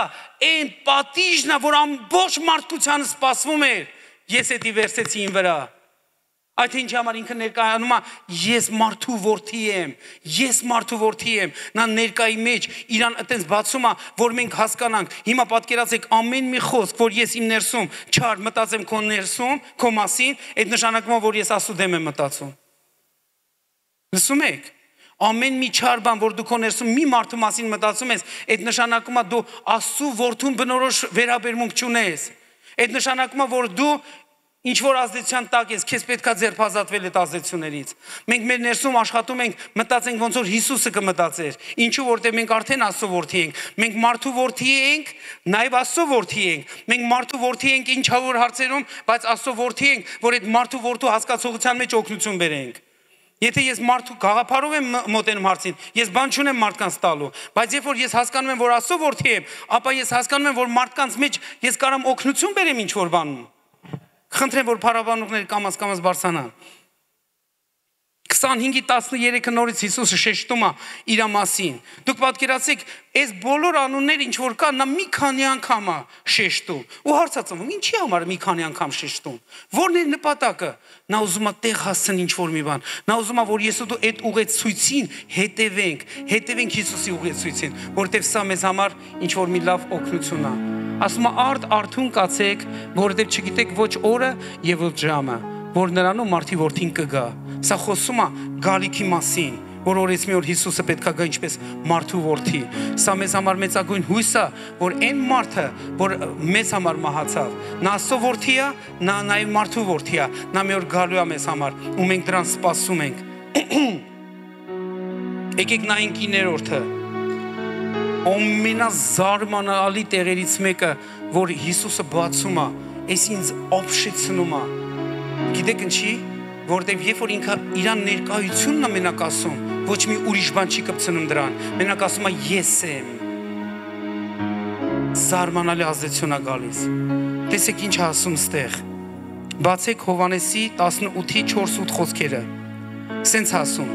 այն պատիժն է, որ ամբողջ մարդկությանը սպասվում էր։ Ես էդի վերցեցի ին վրա։ Այդ ինչի համար ինքը ներկայանում է, ես մարդու որդի եմ, ես մարդու որդի եմ, նա ներկայի մեջ իրան այտենց բացում է, որ մենք հասկանանք, հիմա պատկերացեք ամեն մի խոսք, որ ես իմ ներսում չար մտածեմ քո ներսում, քո մասին, այդ նշանակում է, որ ես Աստծո դեմ եմ մտածում։ Լսում եք։ Ամեն մի չար բան, որ դու քո ներսում մի մարդու մասին մտածում ես, այդ նշանակում է դու Աստծո որդուն բնորոշ վերաբերմունք չունես։ Այդ նշանակում է, որ դու ինչ որ ազդեցության տակ ես, քեզ պետքա ձերբազատվել այդ ազդեցություններից։ Մենք մեր ներսում աշխատում ենք, մտածենք ոնց որ Հիսուսը կմտածեր։ Ինչու որտեղ մենք արդեն Աստծո որդի ենք։ Մենք մարդու որդի ենք, նաև Աստծո որդի ենք։ Մենք մարդու որդի ենք ինչ որ հարցերում, բայց Աստծո որդի ենք, որ այդ մարդու որդու հասկացողության մեջ օգնություն բերենք։ Եթե ես մարդու գաղափարով եմ մոտենում հարցին, ես բան չունեմ մարդկանց տալու, բայց երբ որ ես հասկանում եմ, որ Աստծո որդի եմ, ապա ես հասկանում եմ, որ մարդկանց մեջ ես կարամ օգնություն բերեմ ինչ որ բանում։ Խնդրեմ, որ փառաբանողները կամաց բարձրանան։ 25:13 նորից Հիսուսը շեշտում է իր մասին։ Դուք պատկերացեք, այս բոլոր անունները ինչ որ կա, նա մի քանի անգամ է շեշտում։ Ու հարցածում, ինչի համար մի քանի անգամ շեշտում։ Որն է նպատակը։ Նա ուզում է տեղ հասցնել ինչ որ մի բան։ Նա ուզում է, որ ես ու դու այդ ուղեցույցին հետևենք Հիսուսի ուղեցույցին, որտեղ սա մեզ համար ինչ որ մի լավ օգնություն է։ Ասում է արթուն կացեք, որովհետև չգիտեք ոչ օրը եւ ոչ ժամը, որ նրանում մարդի որդին կգա։ Սա խոսում է գալիքի մասին, որ օրից մի օր Հիսուսը պետքա գա ինչպես մարդու որդի։ Սա մեզ համար մեծագույն հույս է, որ այն մարդը, որ մեզ համար մահացավ, նա Աստծո որդի է, նա նաև մարդու որդի է, նա մի օր գալու է մեզ համար, ու մենք դրան սպասում ենք։ Եկեք նայենք 9-րդը։ Ամենազարմանալի տեղերից մեկը, որ Հիսուսը բացում է, այս ինձ ապշեցնում է։ Գիտեք ինչի, որտեղ երբ որ ինքը իրան ներկայությունն է մենակ ասում, ոչ մի ուրիշ բան չի կպցնում դրան, մենակ ասում է ես եմ։ Զարմանալի ազդեցություն է գալիս։ Տեսեք ինչ ասում ստեղ։ Բացեք Հովհաննեսի 18:4-8 խոսքերը։ Սենց ասում,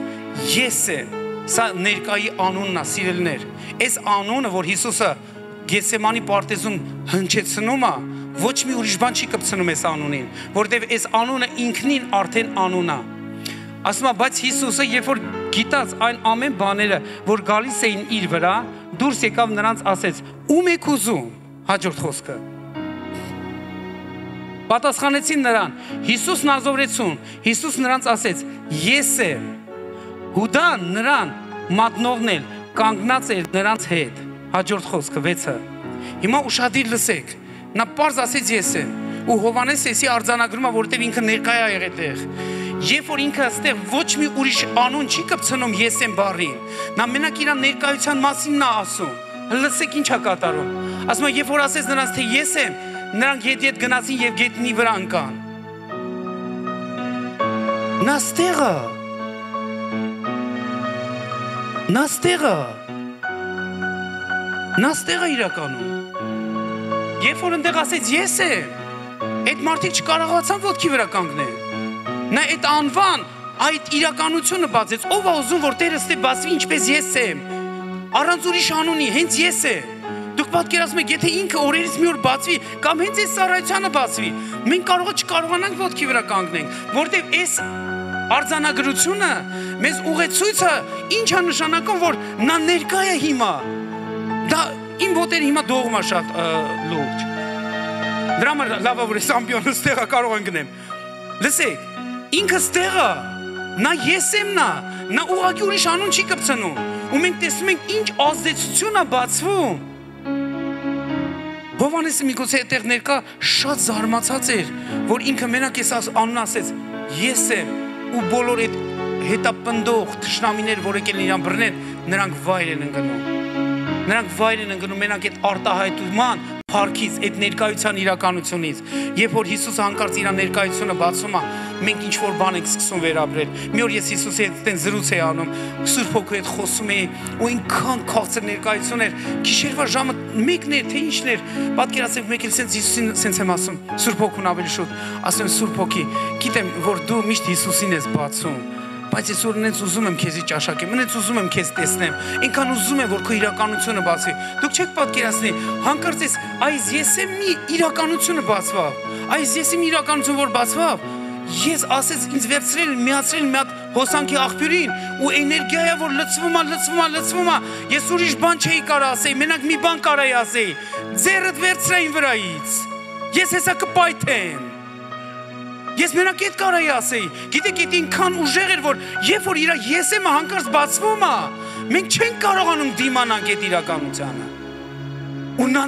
ես եմ։ Սա ներկայի անունն է, սիրելիներ։ Այս անունը, որ Հիսուսը Գեթսեմանի պարտեզում հնչեցնում է, ոչ մի ուրիշ բան չի կպցնում այս անունին, որտեղ այս անունը ինքնին արդեն անուն է։ Ասում է, բայց Հիսուսը, երբ որ գիտած այն ամեն բաները, որ գալիս էին իր վրա, դու դուրս եկավ նրանց ասեց. «Ում եք ուզում»։ Հաջորդ խոսքը։ Պատասխանեցին նրան. «Հիսուս Նազովրեցուն»։ Հիսուս նրանց ասեց. «Ես եմ»։ Հուդան նրան մատնողն էլ կանգնած էր նրանց հետ։ Հաջորդ խոսքը 6-ը։ Հիմա ուշադիր լսեք։ Նա պարզ ասեց ես եմ։ Ու Հովհաննես էսի արձանագրում է, որտեղ ինքը ներկայ է եղել այդտեղ։ Երբ որ ինքը այստեղ ոչ մի ուրիշ անուն չի կպցնում ես եմ բառին, նա մենակ իր ներկայության մասին նա ասում։ Լսեք ինչ է կատարում։ Ասում է, երբ որ ասեց նրանց թե ես եմ, նրանք հետ գնացին եւ գետնի վրա ընկան։ Նա ստեղը իրականում։ Երբ որ ընդեղ ասեց ես եմ, այդ մարդիկ չկարողացան ոտքի վրա կանգնել։ Նա այդ անվան, այդ իրականությունը բացեց, ով է ուզում որ Տերը ստե բացվի ինչպես ես եմ, առանց ուրիշ անունի, հենց ես եմ։ Դուք պատկերացնում եք, եթե ինքը օրերից մի օր բացվի, կամ հենց այս ծառայությանը բացվի, մենք չկարողանանք ոտքի վրա կանգնենք, որտեղ այս արձանագրությունը մեզ ուղեցույցը ինչ է նշանակում, որ նա ներկա է հիմա։ Դա իմ ոտերը հիմա դողում է շատ լուրջ։ Դրա համար լավ է որ այս ամբիոնը ստեղը կարող են գնեմ։ Լսեք, ինքը ստեղը, նա ես եմ նա ուղղակի ուրիշ անուն չի կպցնում։ Ու մենք տեսնում ենք ինչ ազդեցություն է բացվում։ Հովհաննեսը միգուցե այդտեղ ներկա շատ զարմացած էր, որ ինքը մենակ այս անուն ասեց, ես եմ, ու բոլոր այդ հետապնդող թշնամիներ, որ եկել իրան բռնեն, նրանք վայր են ընկնում։ Նրանք վայր են ընկնում մենակ այդ արտահայտման փառքից, այդ ներկայության իրականությունից։ Երբ որ Հիսուսը հանկարծ իր ներկայությունը բացում է, մենք ինչ որ բան ենք սկսում վերաբերել։ Մի օր ես Հիսուսի հետ այդտեն զրույց էի անում, Սուրբ Հոգու հետ խոսում էի, ու ինքան քաղցր ներկայություն էր։ Գիշերվա ժամը 1-ն էր, թե ինչն էր։ Պատկերացրեք, մեկ էլ սենց Հիսուսին սենց եմ ասում, Սուրբ Հոգուն ավելի շուտ, ասում Սուրբ Հոգի, գիտեմ, որ դու միշտ Հիսուսին ես բացում, բայց ես որ նենց ուզում եմ քեզի ճաշակեմ, նենց ուզում եմ քեզ տեսնեմ, այնքան ուզում եմ որ քո իրականությունը բացվի։ Դուք չեք պատկերացնի, հանկարծ այս ես եմ մի իրականությունը բացվավ, այս ես եմ իրականություն որ բացվավ, ես ասեց ինձ վերցրել, միացրել մի հատ հոսանքի աղբյուրին ու էներգիա է որ լցվում է, ես ուրիշ բան չէի կարող ասեի, մենակ մի բան կարայի ասեի, ձեռդ վերցրա իմ վրայից, ես հեսա կպայթեմ։ Ես մենակ այդ կարայի ասեի, գիտեք այդ ինքան ուժեղ էր, որ երբ որ իր ես եմ հանկարծ բացվում է, մենք չենք կարողանում դիմանանք այդ իրականությանը։ Ու նա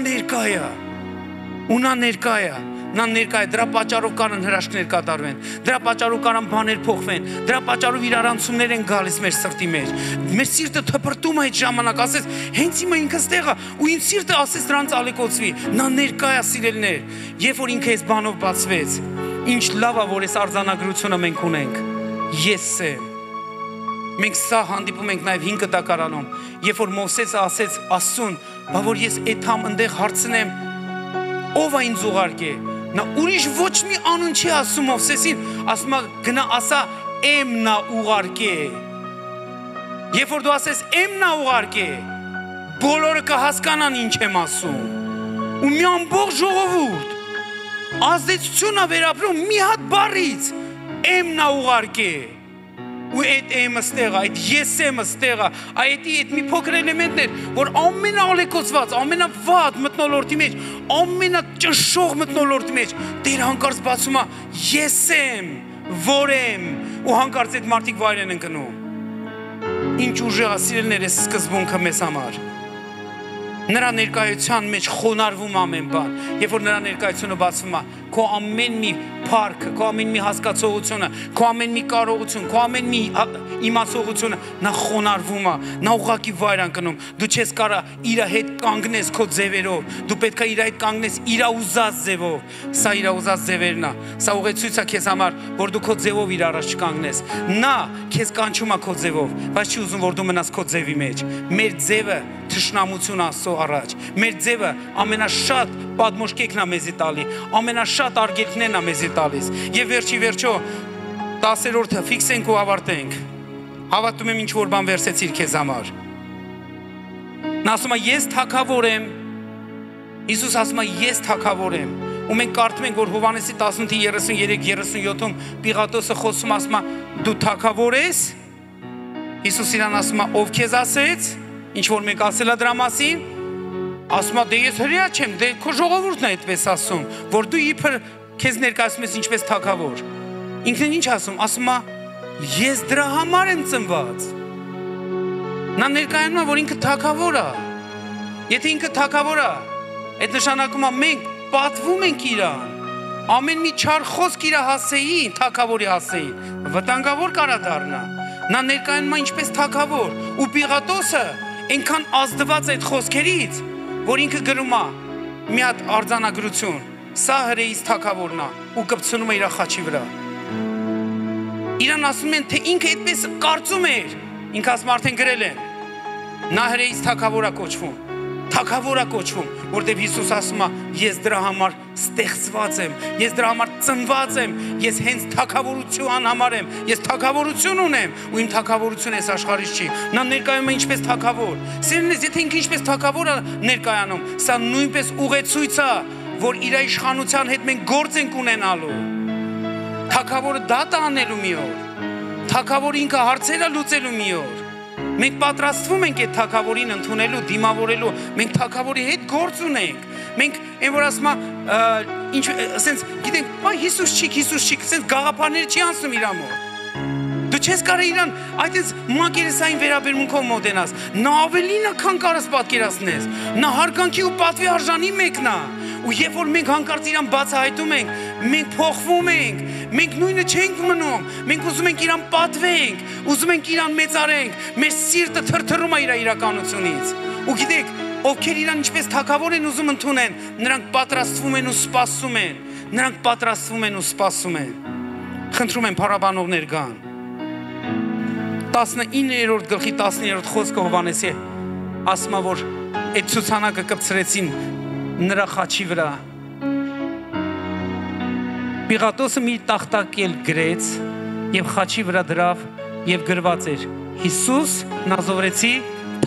ներկա է, դրա պատճառով կարան հրաշքներ կատարվեն, դրա պատճառով կարան բաներ փոխվեն, դրա պատճառով իրարանցումներ են գալիս մեր սրտի մեջ։ Մեր սիրտը թփրտում է այդ ժամանակ, ասես հենց հիմա ինքը ստեղը, ու իմ սիրտը ասես դրանց ալեկոծվի, նա ներկա է սիրելիներ, երբ որ ինքը այս բանով բացվեց, ինչ լավ է որ այս արձանագրությունը մենք ունենք, ես եմ։ Մենք սա հանդիպում ենք նաև 5 դակարանում, երբ որ Մովսեսը ասեց Աստծուն, բա որ ես այդամ ընդեղ հարցնեմ, ով է ինձ ուղարկե։ Նա ուրիշ ոչ մի անուն չի ասում Մովսեսին, ասում է գնա ասա եմ նա ուղարկե։ Երբ որ դու ասես եմ նա ուղարկե, բոլորը կհասկանան ինչ եմ ասում։ Ու մի ամբողջ ժողովուրդ ազդեցություն է վերապրում մի հատ բառից, եմ նա ուղարկե։ Ու այդ եմը ստեղը, այդ ես եմը ստեղը, այդ մի փոքր էլեմենտներ, որ ամենաալեկոծված, ամենավատ մթնոլորտի մեջ, ամենաճնշող մթնոլորտի մեջ, Տեր հանկարծ բացում է, ես եմ, որ եմ, ու հանկարծ այդ մարդիկ վայր են ընկնում։ Ինչ ուժեղ է սիրելիներ այս սկզբունքը մեզ համար։ Նրա ներկայության մեջ խոնարհվում ամեն բան, երբ որ նրա ներկայությունը բացվում է, քո ամեն մի փառքը, քո ամեն մի հասկացողությունը, քո ամեն մի կարողություն, քո ամեն մի իմացողությունը, նա խոնարհվում է, նա ուղղակի վայր ընկնում։ Դու չես կարող իր հետ կանգնես քո ձևերով, դու պետք է իր հետ կանգնես իր ուզած ձևով։ Սա իր ուզած ձևերն է։ Սա ուղեցույց է քեզ համար, որ դու քո ձևով իր առաջ չկանգնես։ Նա քեզ կանչում է քո ձևով, բայց չի ուզում որ դու մնաս քո ձևի մեջ։ Մեր ձևը թշնամություն Աստծո առաջ։ Մեր ձևը ամենաշատ պատմոշկեքն է մեզի տալի, ամենաշատ արգելքներն է մեզի տալիս։ Եվ վերջո 10-րդը ֆիքսենք ու ավարտենք։ Հավատում եմ ինչ որ բան վերցեցիր քեզ համար։ Նա ասում է ես թագավոր եմ։ Հիսուս ասում է ես թագավոր եմ։ Ու մենք կարդում ենք որ Հովհաննեսի 18:33-37-ում Պիղատոսը խոսում ասում է դու թագավոր ես։ Հիսուս իրան ասում է ով քեզ ասեց։ Ինչ որ մենք ասելա դրա մասին, ասում է դե ես հրեա չեմ, դե քո ժողովուրդն է այդպես ասում, որ դու իբր քեզ ներկայացնում ես ինչպես թագավոր։ Ինքն ինչ ասում, ասում է ես դրա համար եմ ծնված։ Նա ներկայանում է, որ ինքը թագավոր է։ Եթե ինքը թագավոր է, այդ նշանակում է մենք պատվում ենք իրան։ Ամեն մի չար խոսք իր հասեին, թագավորի հասեին, վտանգավոր կարա դառնա։ Նա ներկայանում է ինչպես թագավոր, ու Պիղատոսը այնքան ազդված այդ խոսքերից, որ ինքը գրում է մի հատ արձանագրություն, սա հրեից թագավորն է, ու կպցնում է իր խաչի վրա։ Իրան ասում են, թե ինքը այդպես կարծում էր, ինքը ասում արդեն գրել են, նա հրեից թագավոր է կոչվում, թագավոր է կոչվում, որտեղ Հիսուս ասում է, ես դրա համար ստեղծված եմ, ես դրա համար ծնված եմ, ես հենց թագավորության համար եմ, ես թագավորություն ունեմ, ու իմ թագավորությունը այս աշխարհից չի։ Նա ներկայանում է ինչպես թագավոր։ Սիրելիներ, եթե ինքը ինչպես թագավոր է ներկայանում, սա նույնպես ուղեցույց է, որ իր իշխանության հետ մենք գործ ենք ունենալու։ Թագավորը դա անելու մի օր։ Թագավորը ինքը հարցերը լուծելու մի օր։ Մենք պատրաստվում ենք այդ թագավորին ընդունելու, դիմավորելու, մենք թագավորի հետ գործ ունենք։ Մենք այն որ ասում ինչ ասենց գիտենք, բայ Հիսուս չի, ասենց գաղափարները չի անցնում իր մոտ։ Դու չես կարող իրան այդպես մակերեսային վերաբերմունքով մոտենաս։ Նա ավելին է, քան կարաս պատկերացնես։ Նա հարգանքի ու պատվի արժանի մեկն է։ Ու երբ որ մենք հանկարծ իրան բացահայտում ենք, մենք փոխվում ենք, մենք նույնը չենք մնում, մենք ուզում ենք իրան պատվենք, ուզում ենք իրան մեծարենք, մեր սիրտը թրթռում է իր իրականությունից։ Ու գիտեք, ովքեր իրան ինչպես թագավոր են ուզում ընդունեն, նրանք պատրաստվում են ու սպասում են, նրանք պատրաստվում են ու սպասում են։ Խնդրում եմ փառաբանողներ գան։ 19-րդ գլխի 10-րդ խոսքը Հովհաննեսի ասում է, որ այդ ցուցանակը կպցրեցին նրա խաչի վրա։ Պիղատոսը մի տախտակել գրեց եւ խաչի վրա դրավ եւ գրված էր Հիսուս Նազովրեցի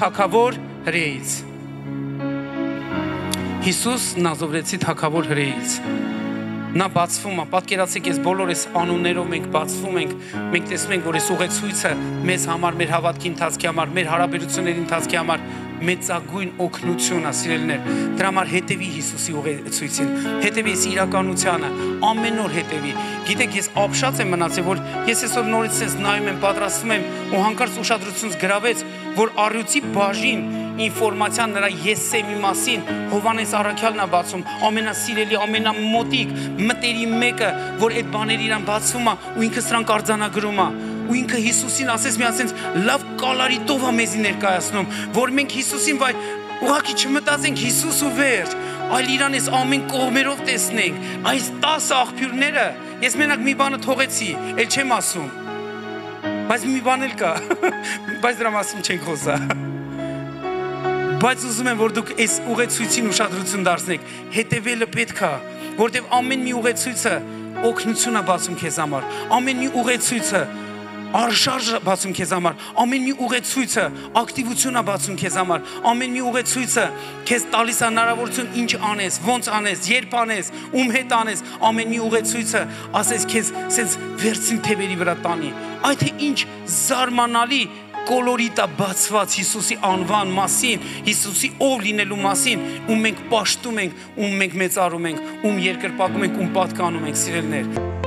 թագավոր հրեից։ Հիսուս Նազովրեցի թագավոր հրեից։ Նա բացվում է, պատկերացեք, ես բոլոր այս անուններով մենք բացվում ենք, մենք տեսնում ենք, որ այս ուղեցույցը մեզ համար, մեր հավատքի ընթացքի համար, մեր հարաբերությունների ընթացքի համար մեծագույն օգնություն է, սիրելիներ։ Դրա համար հետևի Հիսուսի ուղեցույցին, հետևի այս իրականությանը, ամեն օր հետևի։ Գիտեք, ես ապշած եմ մնացել, որ ես այսօր նորից sense նայում եմ, պատրաստվում եմ ու հանկարծ ուշադրությունս գրավեց, որ առյուծի բաժին ինֆորմացիան նրա Եսսեմի մասին Հովհաննես առաքյալն է բացում, ամենասիրելի, ամենամոտիկ մտերի մեկը, որ այդ բաները իրան բացվում է ու ինքը սրանք արձանագրում է։ Ու ինքը Հիսուսին ասես մի ասենց լավ կալարիտով է մեզի ներկայացնում, որ մենք Հիսուսին վայ ուղղակի չմտածենք Հիսուս ու վերջ, այլ իրան այս ամեն կողմերով տեսնենք։ Այս 10 աղբյուրները, ես մենակ մի բանը թողեցի, էլ չեմ ասում։ Բայց մի բան էլ կա, բայց դրա մասին չենք խոսա։ Բայց ուզում եմ, որ դուք այս ուղեցույցին ուշադրություն դարձնեք, հետևելը պետք է, որտեղ ամեն մի ուղեցույցը օգնություն է բացում քեզ համար, ամեն մի ուղեցույցը արշարժ բացում քեզ համար, ամեն մի ուղեցույցը ակտիվություն է բացում քեզ համար, ամեն մի ուղեցույցը քեզ տալիս է հնարավորություն ինչ անես, ոնց անես, երբ անես, ում հետ անես, ամեն մի ուղեցույցը ասես քեզ սենց վերցին թևերի վրա տանի։ Այդ թե ինչ զարմանալի կոլորիտա բացված Հիսուսի անվան մասին, Հիսուսի ով լինելու մասին, ում մենք պաշտում ենք, ում մենք մեծարում ենք, ում երկրպագում ենք, ում պատկանում ենք, սիրելիներ։